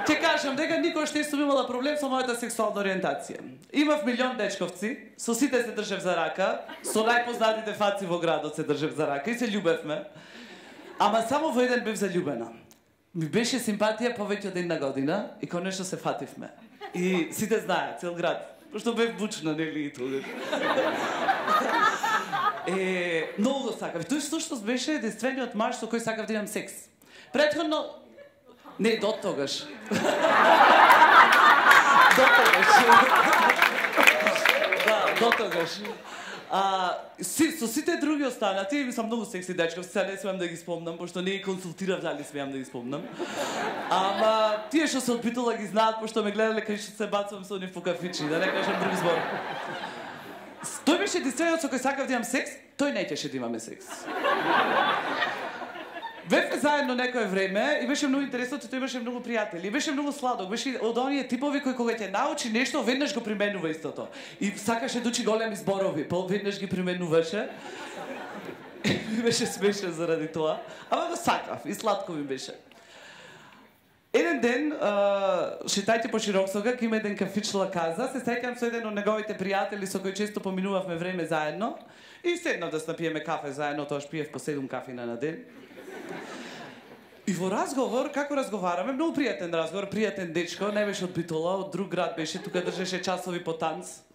Ќе кажам дека никош не сум имала проблем со мојата сексуална ориентација. Имав милион дечковци, со сите се држев за рака, со најпознатите фаци во градот се држев за рака и се љубевме. Ама само во еден бев заљубена. Ми беше симпатија повеќе од една година и конечно се фативме. И сите знаат, цел град. Пошто бев бучна, нели, и тогаш. Многу го сакав. Тој всушност беше единствениот маж со кој сакав да имам секс. Претходно... Не, до тогаш. Да, до тогаш. Со сите други останати, ми сам многу секси дечка, сега не смеам да ги спомнам, пошто не ги консултирав дали смеам да ги спомнам. Ама тие што се од Битола ги знаат, пошто ме гледале кај што се бацувам со нив по кафичи, да не кажам друг збор. Тој беше единствениот со кој сакав да имам секс, тој не ќеше да имаме секс. Бевме заедно некое време и беше многу интересно, тој имаше многу пријатели. И беше многу сладок, беше од оние типови кои кога ќе научи нешто, веднаш го применува истото. И сакаше да учи големи зборови, веднаш ги применуваше. Ми беше смешен заради тоа, ама го сакав и сладко ми беше. Еден ден, шетајте по Широксога, има еден кафич Лаказа, се сеќам со еден од неговите пријатели со кој често поминувавме време заедно и седнав да напиеме кафе заедно, тоаш пиев по 7 кафина на ден. И во разговор, како разговараме, многу пријатен разговор, пријатен дечко, не беше од Битола, од друг град беше, тука држеше часови по танц.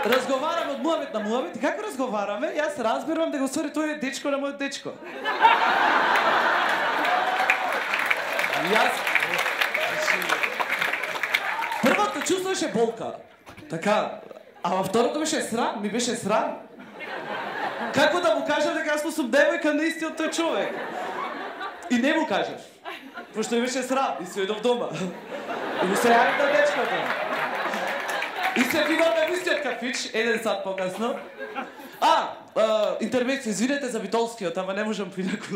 Разговараме од муавет на муавет и како разговараме, јас разбирам дека усвари тој е дечко на мојот дечко. Јас... Првото чувство беше болка. Така, ама второто беше срам, ми беше срам. Како да му кажам дека јас сум девојка на истиот тој човек? И не му кажеш. Пошто ми беше срам и се одов дома. И му се јавим на дечкото. И се видаме во истиот кафич, 1 сат покасно. Интервенција, извинете за Битолскиот, ама не можам поинаку.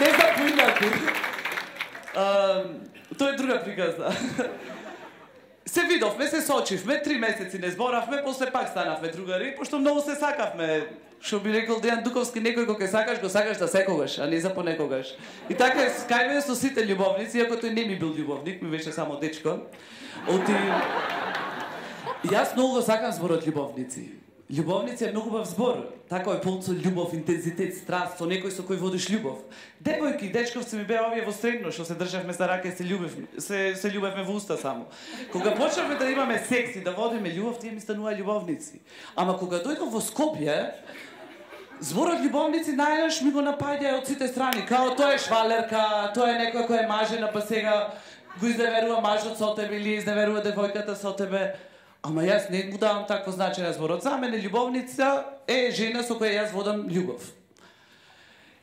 Не знам поинаку. Тоа е друга приказна. Се видовме, се сочивме, 3 месеци не зборавме, после пак станавме другари, пошто многу се сакавме. Што би рекол Дејан Дуковски, некој кога го сакаш да секогаш, а не за понекогаш. И така е скајме со сите љубовници, иако тој не ми бил љубовник, ми беше само дечко. Јас многу го сакам зборот љубовници. Љубовници е многу бав збор. Така е полн со љубов, интензитет, страст, со некој со кој водиш љубов. Девојки, дечковци ми беа овие во средно, што се државме за рака и се љубевме во уста само. Кога почнавме да имаме секс и да водиме љубов, тие ми станува љубовници. Ама кога дојдов во Скопје, зборот љубовници најнаш ми го напаѓа од сите страни. Као тоа е швалерка, тоа е некој кој е мажена, па сега го изневерува мажот со тебе или изневерува девојката со тебе. Ама јас не му давам такво значење на зборот. За мене љубовница е жена со која јас водам љубов.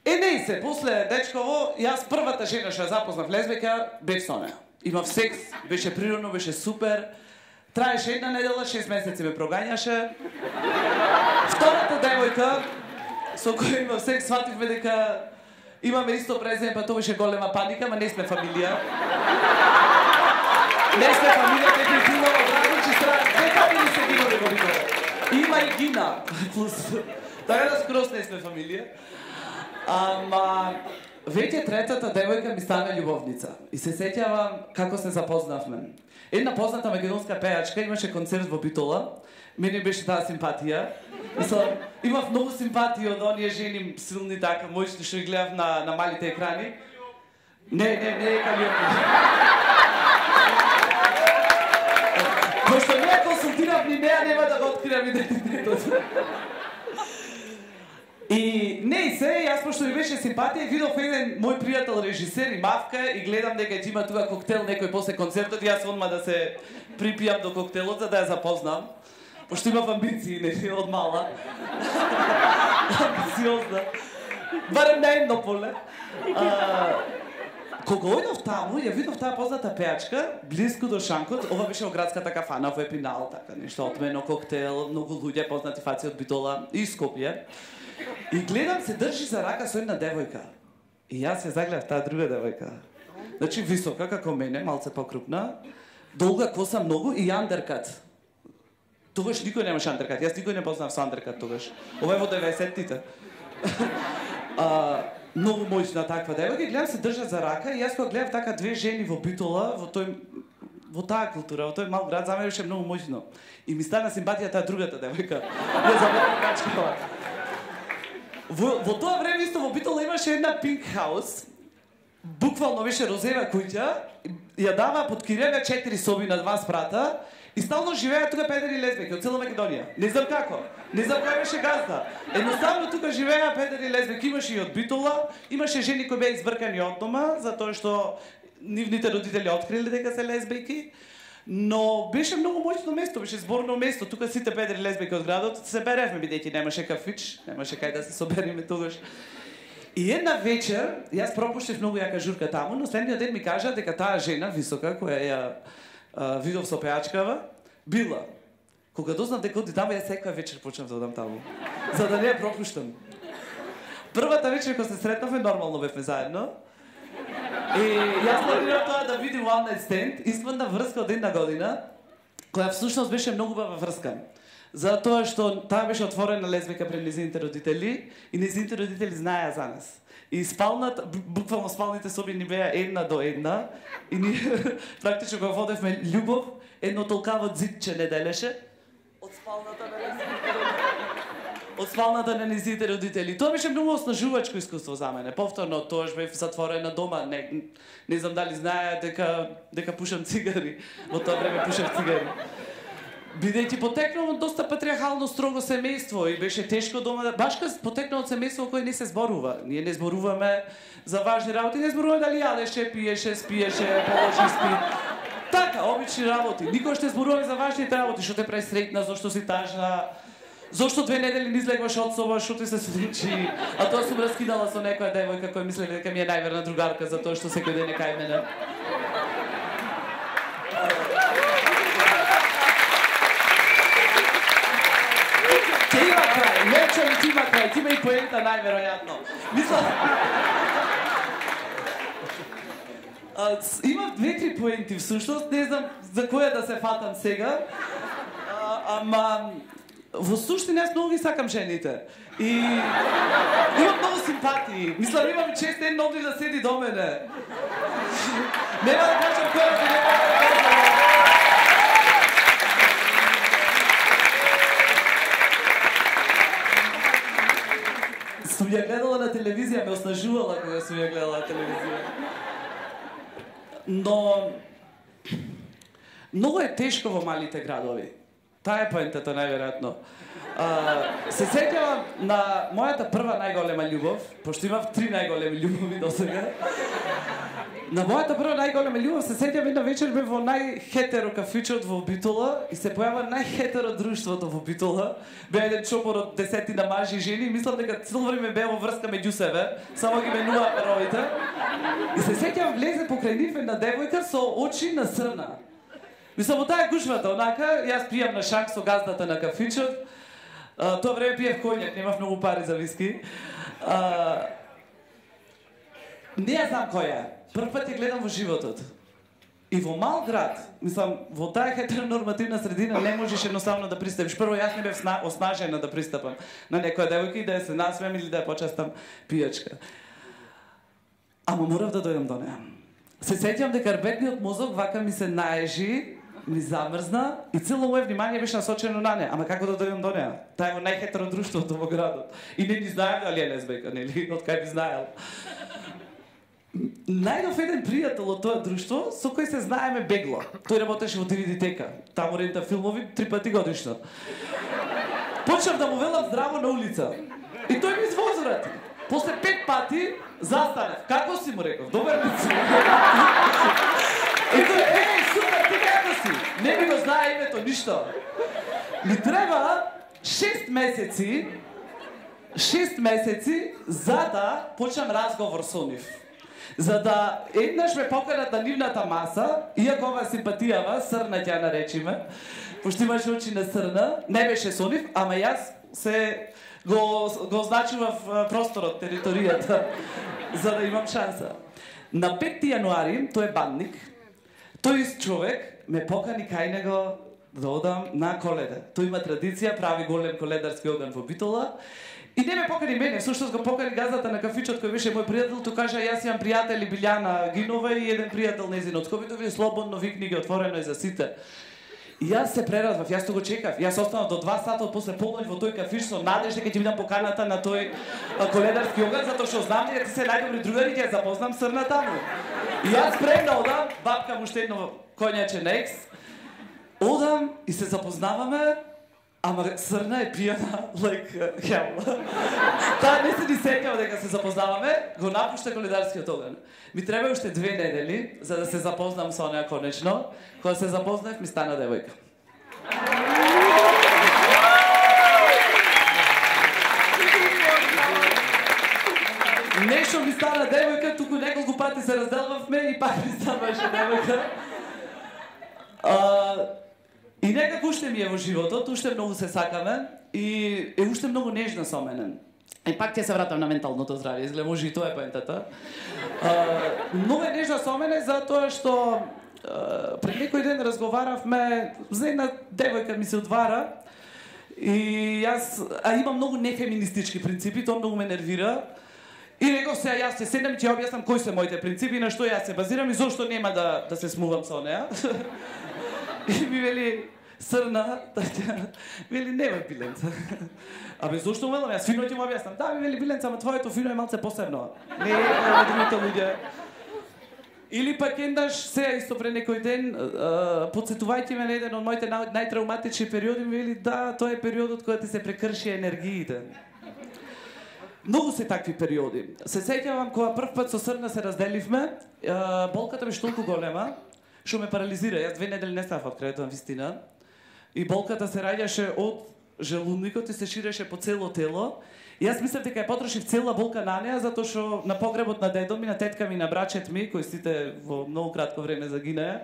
Не се, после дечково, јас првата жена што ја запознав лесбека, бев со неа. Имав секс, беше природно, беше супер. Траеше една недела, 6 месеци ме прогањаше. Втората девојка со која имав секс, свативме дека имаме исто презиме, па тоа беше голема паника, ама не сме фамилија. Не сме фамилија, дефинитивно од различни страни. Не фамилии се гинове во Битола. Има и Гина, плюс. Така да скрос не сме фамилија. Ама веќе третата девојка ми стана љубовница. И се сеќавам како се запознавме. Една позната македонска пејачка имаше концерт во Битола. Мене беше таа симпатија. Имав многу симпатија од оние жени силни така, мојчни што ги гледав на малите екрани. Не е Калиопи. Пошто не ја консултирав ни неа, нема да го откривам идентитетот. И не и се, јас пошто ми беше симпатија, видов еден мој пријател режисер и мавка и гледам дека ќе има тука коктел некој после концертот и јас одма да се припијам до коктелот за да ја запознам. Пошто имав амбиции, не, од мала. Амбициозна. Барем на едно поле. Кога ојдов таму, ја видов таа позната пеачка, близко до шанкот, ова беше во градската кафана во Епинал, така нешто отмено, коктел, многу луѓе, познати фаци од Битола и Скопје. И гледам се држи за рака со една девојка. И јас ја загледав таа друга девојка. Значи висока како мене, малце покрупна, долга коса многу и андеркат. Тогаш никој немаше андеркат. Јас никој не познав со андеркат тогаш. Ова е во 90-тите. Многу моćна таква девојка и гледам се држат за рака и јас кога гледав така две жени во Битола, во таа култура, во тој мал град, за мене беше многу моćно. И ми стана симпатија таа другата девојка. Ја забавам качкала. Во тоа време исто во Битола имаше една пинк хаус. Буквално беше розева куќа, ја дава под кирија 4 соби на 2 спрата и стално живееа тука педери и лесбеки од цела Македонија. Не знам како, не знам кој беше газда. Едноставно тука живееа педери и лесбеки, имаше и од Битола, имаше жени кои беа избркани од дома затоа што нивните родители откриле дека се лесбеки. Но беше многу моćно место, беше зборно место. Тука сите педери и лесбеки од градот се беревме бидејќи немаше кафич, немаше кај да се собериме тогаш. И една вечер, јас пропуштив многу јака журка таму, но следниот ден ми кажа дека таа жена висока која ја видов со пеачкава, била. Кога дознав дека оди таму, јас секоја вечер почнав да одам таму, за да не ја пропуштам. Првата вечер кога се сретнавме, нормално бевме заедно. И јас планирав тоа да видим One Night Stand, испадна врска од една година, која всушност беше многу убава врска. Затоа што таа беше отворена лесбика пред незините родители и незините родители знаеа за нас. И спалната, буквално спалните соби ни беа една до една и ни практично кога водевме љубов, едно толкаво дзидче не делеше од спалната на незините родители. Тоа беше многу оснажувачко искуство за мене. Повторно тоа бев затворена дома, не знам дали знаеа дека пушам цигари. Во тоа време пушав цигари. Бидејќи потекнувам од доста патриархално строго семејство и беше тешко дома, баш потекнувам од семејство кој не се зборува. Ние не зборуваме за важни работи, не зборуваме дали јадеше, пиеше, спиеше, положи, спи. Така, обични работи. Никош не зборуваме за важните работи, што те прави среќна, зошто си тажна, зошто 2 недели не излегваш од соба, што ти се случи, а тоа сум раскидала со некоја девојка која мислеле дека ми е најверна другарка за тоа што секој ден е кај мене. Нечем ти има крај, ти има и поента најверојатно. Мислам... Имам 2-3 поенти всушност, не знам за која да се фатам сега. Ама... Во суштина јас многу ги сакам жените. И... Имам многу симпатии. Мислам, имам чест ден одри да седи до мене. Нема да кажам која се нема да кажам. Сум ја гледала на телевизија, ме оснажувала кога сум ја гледала на телевизија. Но... Многу е тешко во малите градови. Таа е поентата, најверојатно. Се сеќавам на мојата прва најголема љубов, пошто имав 3 најголеми љубови до сега. На мојата прва најголема љубов се сеќавам една вечер бе во најхетеро кафичот во Битола и се појава најхетеро друштвото во Битола. Бе еден чопор од 10 на мажи и жени, мислам дека цело време беа во врска меѓу себе, само ги менуваа перовите. И се сеќавам влезе покрај нив една девојка со очи на срна. Мислам, во таа гушвата, онака, јас пијам на шанк со газдата на кафичот. Тоа време пиев коњак, немав многу пари за виски. Не ја знам која. Прв пат ја гледам во животот. И во мал град, мислам, во таа хетеронормативна средина не можеш едноставно да пристапиш. Прво, јас не бев оснажена да пристапам на некоја девојка и да ја се насмеам или да ја почастам пијачка. Ама морав да дојдам до неа. Се сеќавам дека арбетниот мозок вака ми се наежи, ми замрзна и цело моје внимание беше насочено на неа. Ама како да дојдам до неа? Таа е во најхетеро друштвото во градот. И не ни знаев дали е лесбека, нели? Од кај би знаел. Најдов еден пријател од тоа друштво со кој се знаеме бегло. Тој работеше во DVD-тека. Таму рента филмови 3 пати годишно. Почнав да му велам здраво на улица. И тој ми звозрати. После 5 пати застанав. Како си му реков? Добар ли си? И тој, супер, ти како си? Не ми го знае името, ништо. Ми треба 6 месеци за да почнам разговор со нив. За да еднаш ме поканат на нивната маса, иако ова симпатијава, срна ќе наречиме, пошто имаше очи на срна, не беше со нив, ама јас се го означував просторот, територијата, за да имам шанса. На 5 јануари, тој е бандник, тој човек ме покани кај него да одам на Коледа. Тој има традиција, прави голем коледарски оган во Битола. И не ме покани мене, всушност го покани газата на кафичот кој беше мој пријател, тој кажа јас имам пријатели Билјана Гинова и еден пријател незин од Скопје, слободно викни ги, отворено е за сите. И јас се прерадвав, јас го чекав. Јас останав до 2 сата после полноќ во тој кафиш со надеж дека ќе видам поканата на тој коледарски оган, затоа што знам дека се најдобри другари, ќе ја запознам срна таму. И јас спремна одам, бабка му уште едно коњаче некс. Одам и се запознаваме, ама срна е пијана like hell. Таа не се ни сеќава дека се запознаваме, го напушта коледарскиот оган. Ми треба уште 2 недели за да се запознам со неа конечно. Кога се запознав, ми стана девојка. Нешто ми стана девојка, туку неколку пати се разделвавме и пак ми ставаше девојка. И некако уште ми е во животот, уште многу се сакаме и е уште многу нежна со мене. И пак ќе се вратам на менталното здравје, изгледа може и тоа е поентата. Многу е нежна со мене затоа што пред некој ден разговаравме, за една девојка ми се одвара и јас имам многу нефеминистички принципи, тоа многу ме нервира. И реков се, јас се седнам и ќе објаснам кои се моите принципи, на што јас се базирам и зошто нема да се смувам со неа. И ми вели, срна, вели, нема Биленца. Абе, зошто велам, јас фино ќе му објаснам. Да, ми вели, Биленца, ама твоето фино е малце посебно. Не е другите луѓе. Или пак еднаш, сега исто пред некој ден, подсетувајќи ме на еден од моите најтравматични периоди, ми вели, да, тоа е периодот кога ти се прекрши енергиите. Многу се такви периоди. Се сеќавам кога прв пат со срна се разделивме, болката беше толку голема, што ме парализира. Јас 2 недели не ставав од крајот на вистина. И болката се раѓаше од желудникот и се ширеше по цело тело. И јас мислев дека ја потрошив цела болка на неа, затоа што на погребот на дедо ми, на тетка ми, на брачет ми, кои сите во многу кратко време загинаа,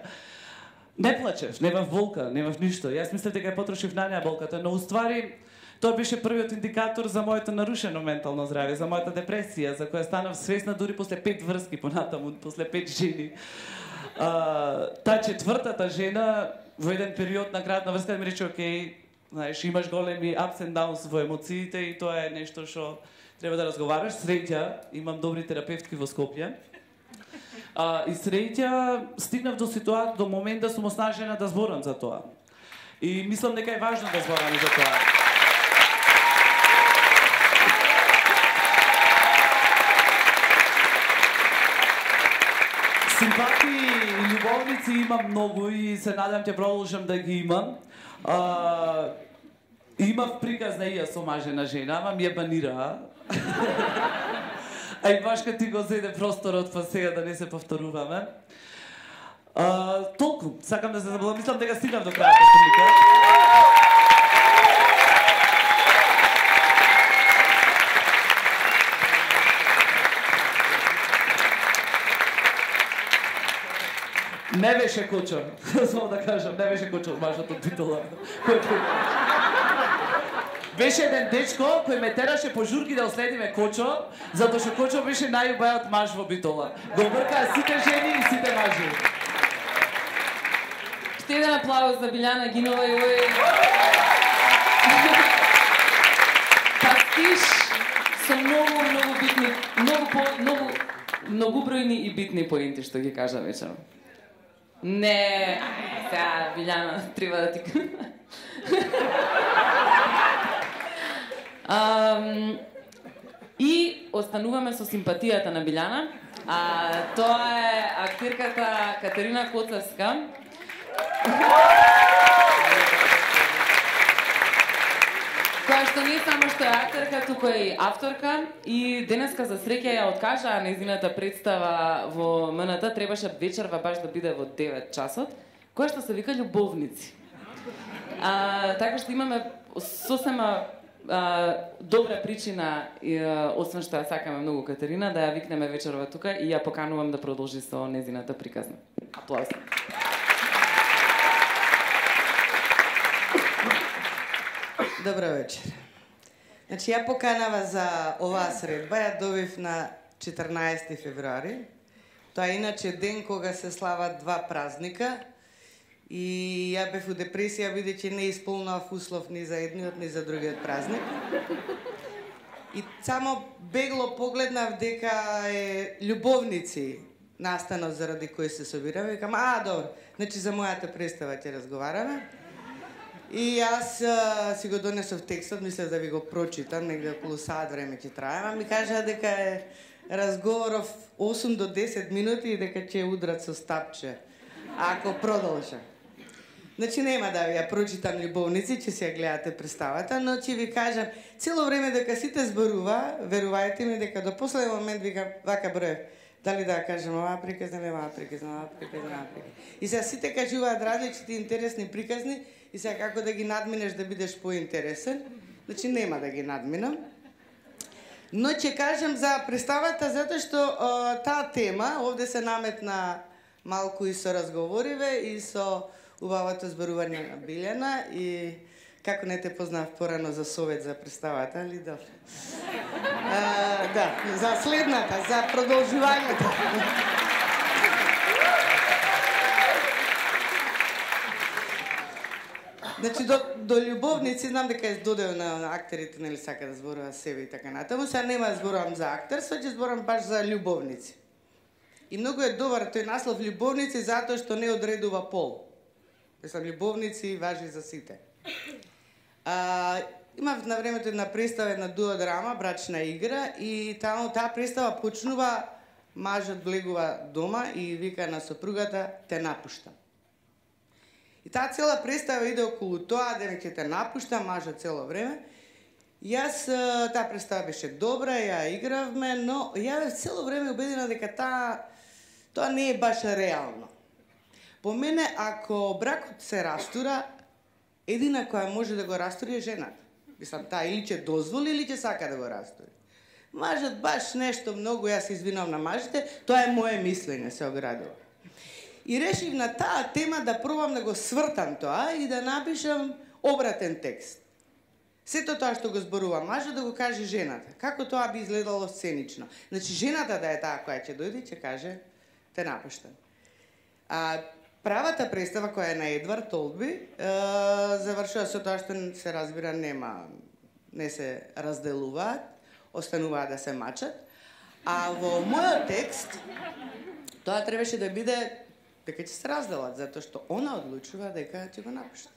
не плачев, немав болка, немав ништо. Јас мислев дека ја потрошив на неа болката, но уствари тоа беше првиот индикатор за моето нарушено ментално здравје, за мојата депресија, за која станав свесна дури после 5 врски понатаму, после 5 жени. Таа четвртата жена во еден период на крајот на врската ми рече, окей, знаеш, имаш големи ups and downs во емоциите и тоа е нешто што треба да разговараш. Среќа, имам добри терапевтки во Скопје. И среќа стигнав до момент да сум оснажена да зборам за тоа. И мислам дека е важно да зборам за тоа. Симпатии и љубовници имам многу и се надам ќе продолжам да ги имам. Имав приказ на ја со мажена жена, ама ми ја банира. А и баш кога ти го зеде просторот, па сега да не се повторуваме. Толку, сакам да се забавам, мислам дека стигнав до крајот прилика. Не беше Кочо, само да кажам, не беше Кочо мажот од Битола. Беше еден дечко кој ме тераше по журки да оследиме Кочо, затоа што Кочо беше најубавиот маж во Битола. Го вркаа сите жени и сите мажи. Ще еден аплауз за Билјана Гинова и овој пастиш со многу битни, многубројни и битни поенти што ги кажа вечером. Не, сега Билјана треба да ти и остануваме со симпатијата на Билјана. Тоа е актирката Катерина Коцевска. Која што не само што е актерка, туку е и авторка и денеска за среќа ја откажаа нејзината представа во МНТ, требаше вечерва баш да биде во 9 часот, која што се вика Љубовници. Така што имаме сосема добра причина, освен што ја сакаме многу Катерина, да ја викнеме вечерва тука и ја поканувам да продолжи со нејзината приказна. Аплауз. Добро вечер. Значи, ја поканава за оваа средба, ја добив на 14 февруари. Тоа е иначе ден кога се слават два празника и ја бев у депресија бидејќи не исполнав услов ни за едниот ни за другиот празник. И само бегло погледнав дека е Љубовници настанот заради кој се собираме. Викам, добро, значи за мојата представа ќе разговараме. И јас си го донесов текстот, мислев да ви го прочитам, негде околу саат време ќе трае, а ми кажа дека е разговоров 8 до 10 минути и дека ќе удрат со стапче, ако продолжа. Значи нема да ви ја прочитам Љубовници, ќе си ја гледате представата, но ќе ви кажам, цело време дека сите зборува, верувајте ми дека до последен момент викам, вака броев, дали да кажам оваа приказна, оваа приказна, оваа приказна, оваа приказна. И сега сите кажуваат различни интересни приказни, и сега како да ги надминеш да бидеш поинтересен, значи нема да ги надминам. Но ќе кажам за представата затоа што таа тема овде се наметна малку и со разговориве и со убавото зборување на Билјана и како не те познав порано за совет за представата, али добро. Да, за следната, за продолжувањето. Значи, до Љубовници, знам дека е додел на актерите, нели сака да зборува себе и така натаму. Сега нема да зборувам за актерство, ќе зборувам баш за Љубовници. И многу е добар тој наслов Љубовници затоа што не одредува пол. Мислам, Љубовници важи за сите. Имав на времето една представа, една дуодрама, брачна игра, и таму таа представа почнува, мажот влегува дома и вика на сопругата, те напуштам. И таа цела представа иде околу тоа, дека ќе те напуштам, мажот цело време. Јас, таа представа беше добра, ја игравме, но ја бев цело време убедена дека тоа не е баш реално. По мене, ако бракот се растура, едина која може да го растури е жената. Мислам, таа или ќе дозволи, или ќе сака да го растури. Мажот баш нешто многу, јас се извинувам на мажите, тоа е моje мислење, се оградува. И решив на таа тема да пробам да го свртам тоа и да напишам обратен текст. Сето тоа што го зборува мажот да го каже жената. Како тоа би изгледало сценично. Значи, жената да е таа која ќе дојде и ќе каже те напуштам. Правата представа која е на Едвард Толби завршува со тоа што се разбира не се разделуваат, остануваат да се мачат. А во мојот текст тоа требаше да биде дека ќе се разделат, затоа што она одлучува дека ќе го напушти.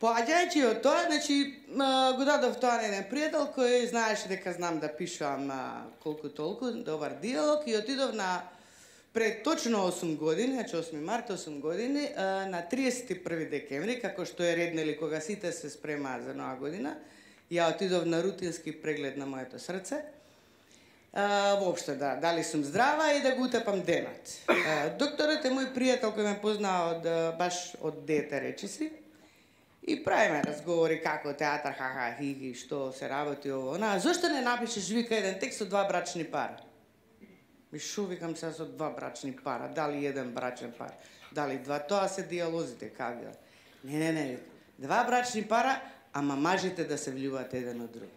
Поаѓајќи од тоа, значи, го дадов тоа на еден пријател кој знаеше дека знам да пишувам колку толку, добар диалог, и отидов на пред точно 8 години, значи 8 март, 8 години, на 31 декември, како што е ред, нели, кога сите се спремаат за нова година, ја отидов на рутински преглед на моето срце, воопшто дали сум здрава и да го утепам денот. Докторот е мој пријател кој ме познава баш од дете, речиси, и правиме разговори како театар, ха-ха, хи, што се работи ово. Зошто не напишеш, вика, еден текст од два брачни пара? Ми шо, викам сега со два брачни пара, дали еден брачен пар, дали два, тоа се диалозите, кавија. Не, два брачни пара, ама мажите да се влюбат еден од друг.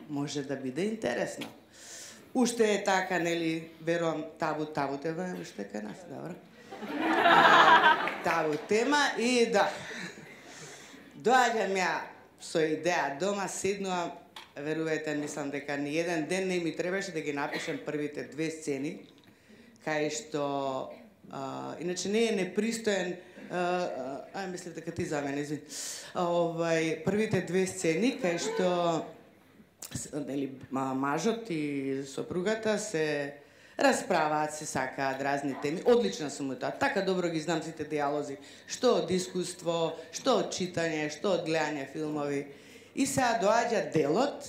Може да биде интересно. Уште е така, нели, верувам, табу тема, уште кај нас, добро? Табу тема и да. Доаѓам ја со идеја дома, седнувам, верувајте, мислам дека ни еден ден не ми требаше да ги напишам првите две сцени, кај што, иначе не е непристоен, мислев дека ти за мене, извини, првите две сцени, кај што нели мажот и сопругата се расправаат, се сакаат разни теми. Одлична сум у тоа. Така добро ги знам сите диалози, што од искуство, што од читање, што од гледање филмови. И сега доаѓа делот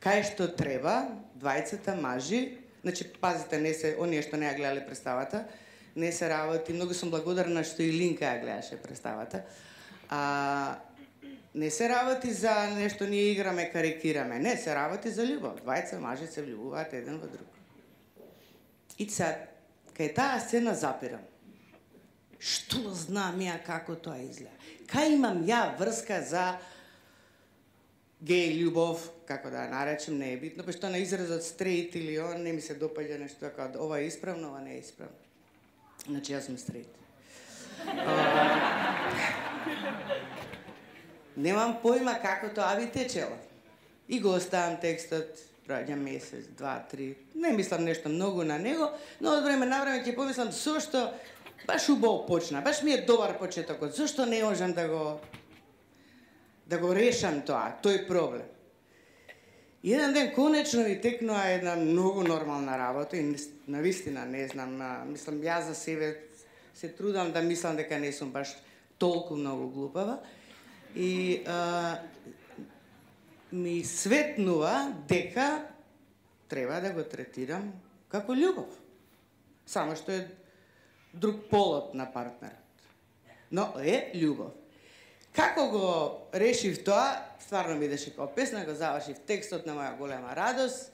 кај што треба двајцата мажи, значи пазите, не се оние што не ја гледале представата, не се работи, многу сум благодарна што и Линка ја гледаше представата. Не се работи за нешто ние играме, карикираме, не, се работи за љубов. Двајца мажи се влюбуваат еден во друг. И сега, кај таа сцена запирам. Што знам ја како тоа изгледа? Кај имам ја врска за геј љубов, како да ја наречем, не е битно, па што на изразот стрейт или он, не ми се допаѓа нешто така, ова е исправно, ова не е исправно. Значи, јас сум стрейт. Немам појма како тоа би течело. И го оставам текстот, проаѓа месец, 2-3, не мислам нешто многу на него, но од време на време ќе помислам зошто баш убаво почна, баш ми е добар почетокот, зошто не можам да го решам тоа, тој проблем. И еден ден конечно ми текнува една многу нормална работа и навистина не знам, мислам јас за себе се трудам да мислам дека не сум баш толку многу глупава и ми светнува дека треба да го третирам како љубов. Само што е друг полот на партнерот. Но е љубов. Како го решив тоа, стварно ми идеше како песна, го завршив текстот на моја голема радост.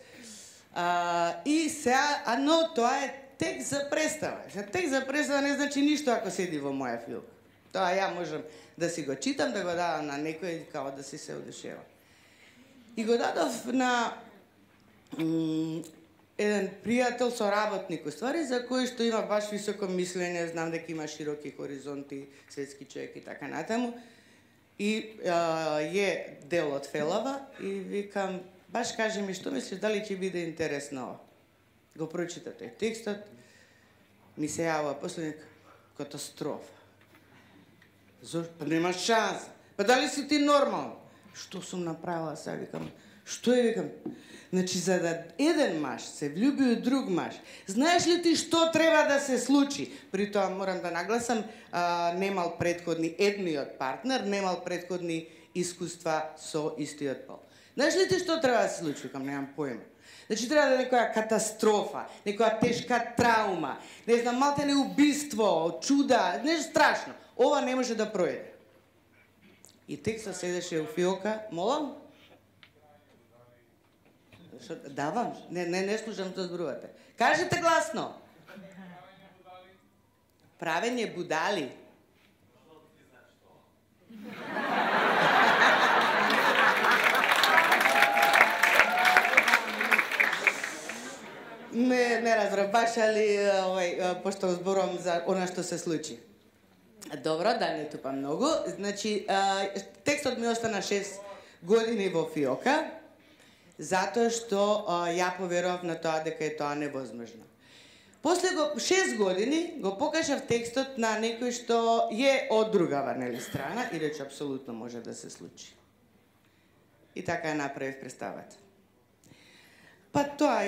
И сега, но тоа е текст за представа. Текст за представа не значи ништо ако седи во моја филм. Тоа ја можам да си го читам, да го давам на некој, као да си се одушева. И го дадов на еден пријател, соработник, уствари, за кој што има баш високо мислење, знам дека има широки хоризонти, светски човек и така натаму. И е дел од Фелава и викам, баш кажи ми што мислиш, дали ќе биде интересно. Го прочита тој текстот, ми се јава последник, катастрофа. Зошто? Па нема шанса. Па дали си ти нормално? Што сум направила сега, викам? Што е, викам? Значи, за да еден маж се влюби у друг маж, знаеш ли ти што треба да се случи? При тоа морам да нагласам, немал предходни, едниот партнер немал предходни искуства со истиот пол. Знаеш ли ти што треба да се случи? Викам, немам појма. Значи, треба да е некоја катастрофа, некоја тешка траума, не знам, малте не убиство, чуда, нешто страшно. Ова не може да пројде. И текстот седеше у фиока, молам? Давам, не слушам што зборувате. Кажете гласно. Правење будали. Не разбрав баш, али пошто зборувам за она што се случи. Добро, да не тупам многу. Значи, текстот ми остана 6 години во фиока, затоа што ја поверував на тоа дека е тоа невозможно. После 6 години го покажав текстот на некој што е од другава, нели, страна и рече апсолутно може да се случи. И така ја направив представата. Па тоа,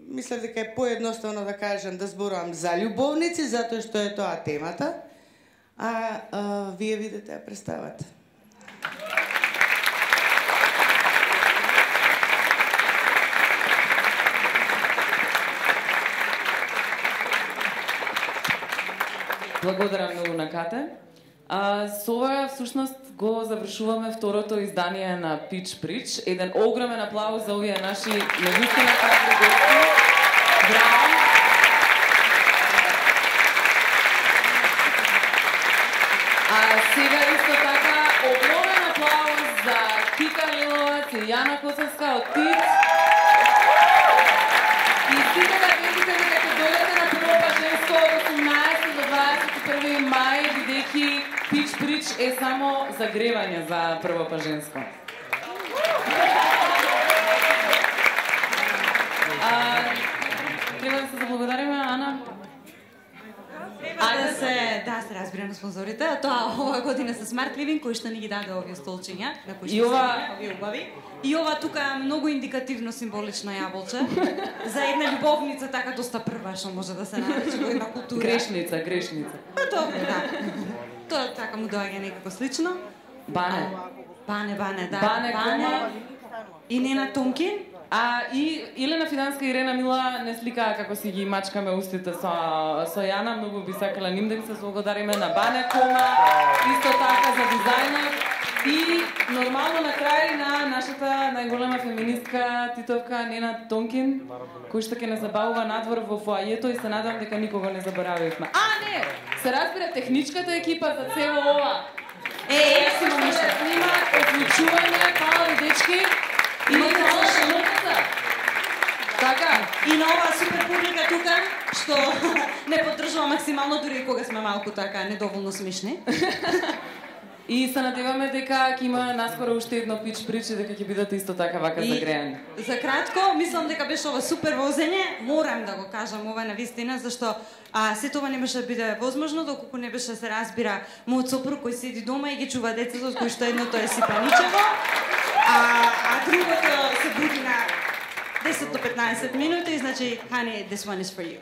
мислев дека е поедноставно да кажам да зборувам за љубовници, затоа што е тоа темата, а вие видите ја представата. Благодарам многу на Кате. Со ова, всушност, го завршуваме второто издание на Pitch Preach. Еден огромен аплауз за овие наши навистина кадри гости. Браво! Сега исто така огромен аплауз за Кика Лиловац и Јана Косовска од ТИЦ. И сите да видите дека ќе дојдете на прво паженско од 18 до 21 мај, бидејќи Pitch Preach е само загревање за прво паженско. Треба да се заблагодариме, Ана? Да се разбира на спонзорите, а тоа ова година се Smart Living, кои што ни ги даде овие столчиња, на кои И што ова- се овие убави. И ова тука многу индикативно символично јаболче за една љубовница така доста прва што може да се нарече во една култура. Грешница. Па добро, да. Тоа така му доаѓа некако слично. Бане. Бане, да. Бане, кома. И Нена Томкин. И Елена Фиданска и Ирена Мила не сликаа како си ги мачкаме устите со Јана, многу би сакала ним да ги се благодариме на Бане Кома, исто така за дизајнот и нормално на крај на нашата најголема феминистка титовка Нена Тонкин, кој што ќе не забавува надвор во фоајето и се надам дека никого не заборавивме. Не, се разбира техничката екипа за цело ова. Јас Си имам нешто. снима, одлучување, фала ви дечки. И фала шамрката. Така. И на оваа супер публика тука, што не поддржува максимално дури и кога сме малку така недоволно смешни. И се надеваме дека ќе има наскоро уште едно пич причи, дека ќе бидете исто така вака загреани. За кратко, мислам дека беше ова супер возење. Морам да го кажам ова на вистина, зашто сето ова не беше да биде возможно доколку не беше се разбира мојот сопруг кој седи дома и ги чува децата, од кои што едното е сипаничево, а другото се буди на 10 до 15 минути, значи, honey, this one is for you.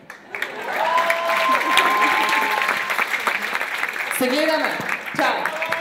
Се гледаме. Чао.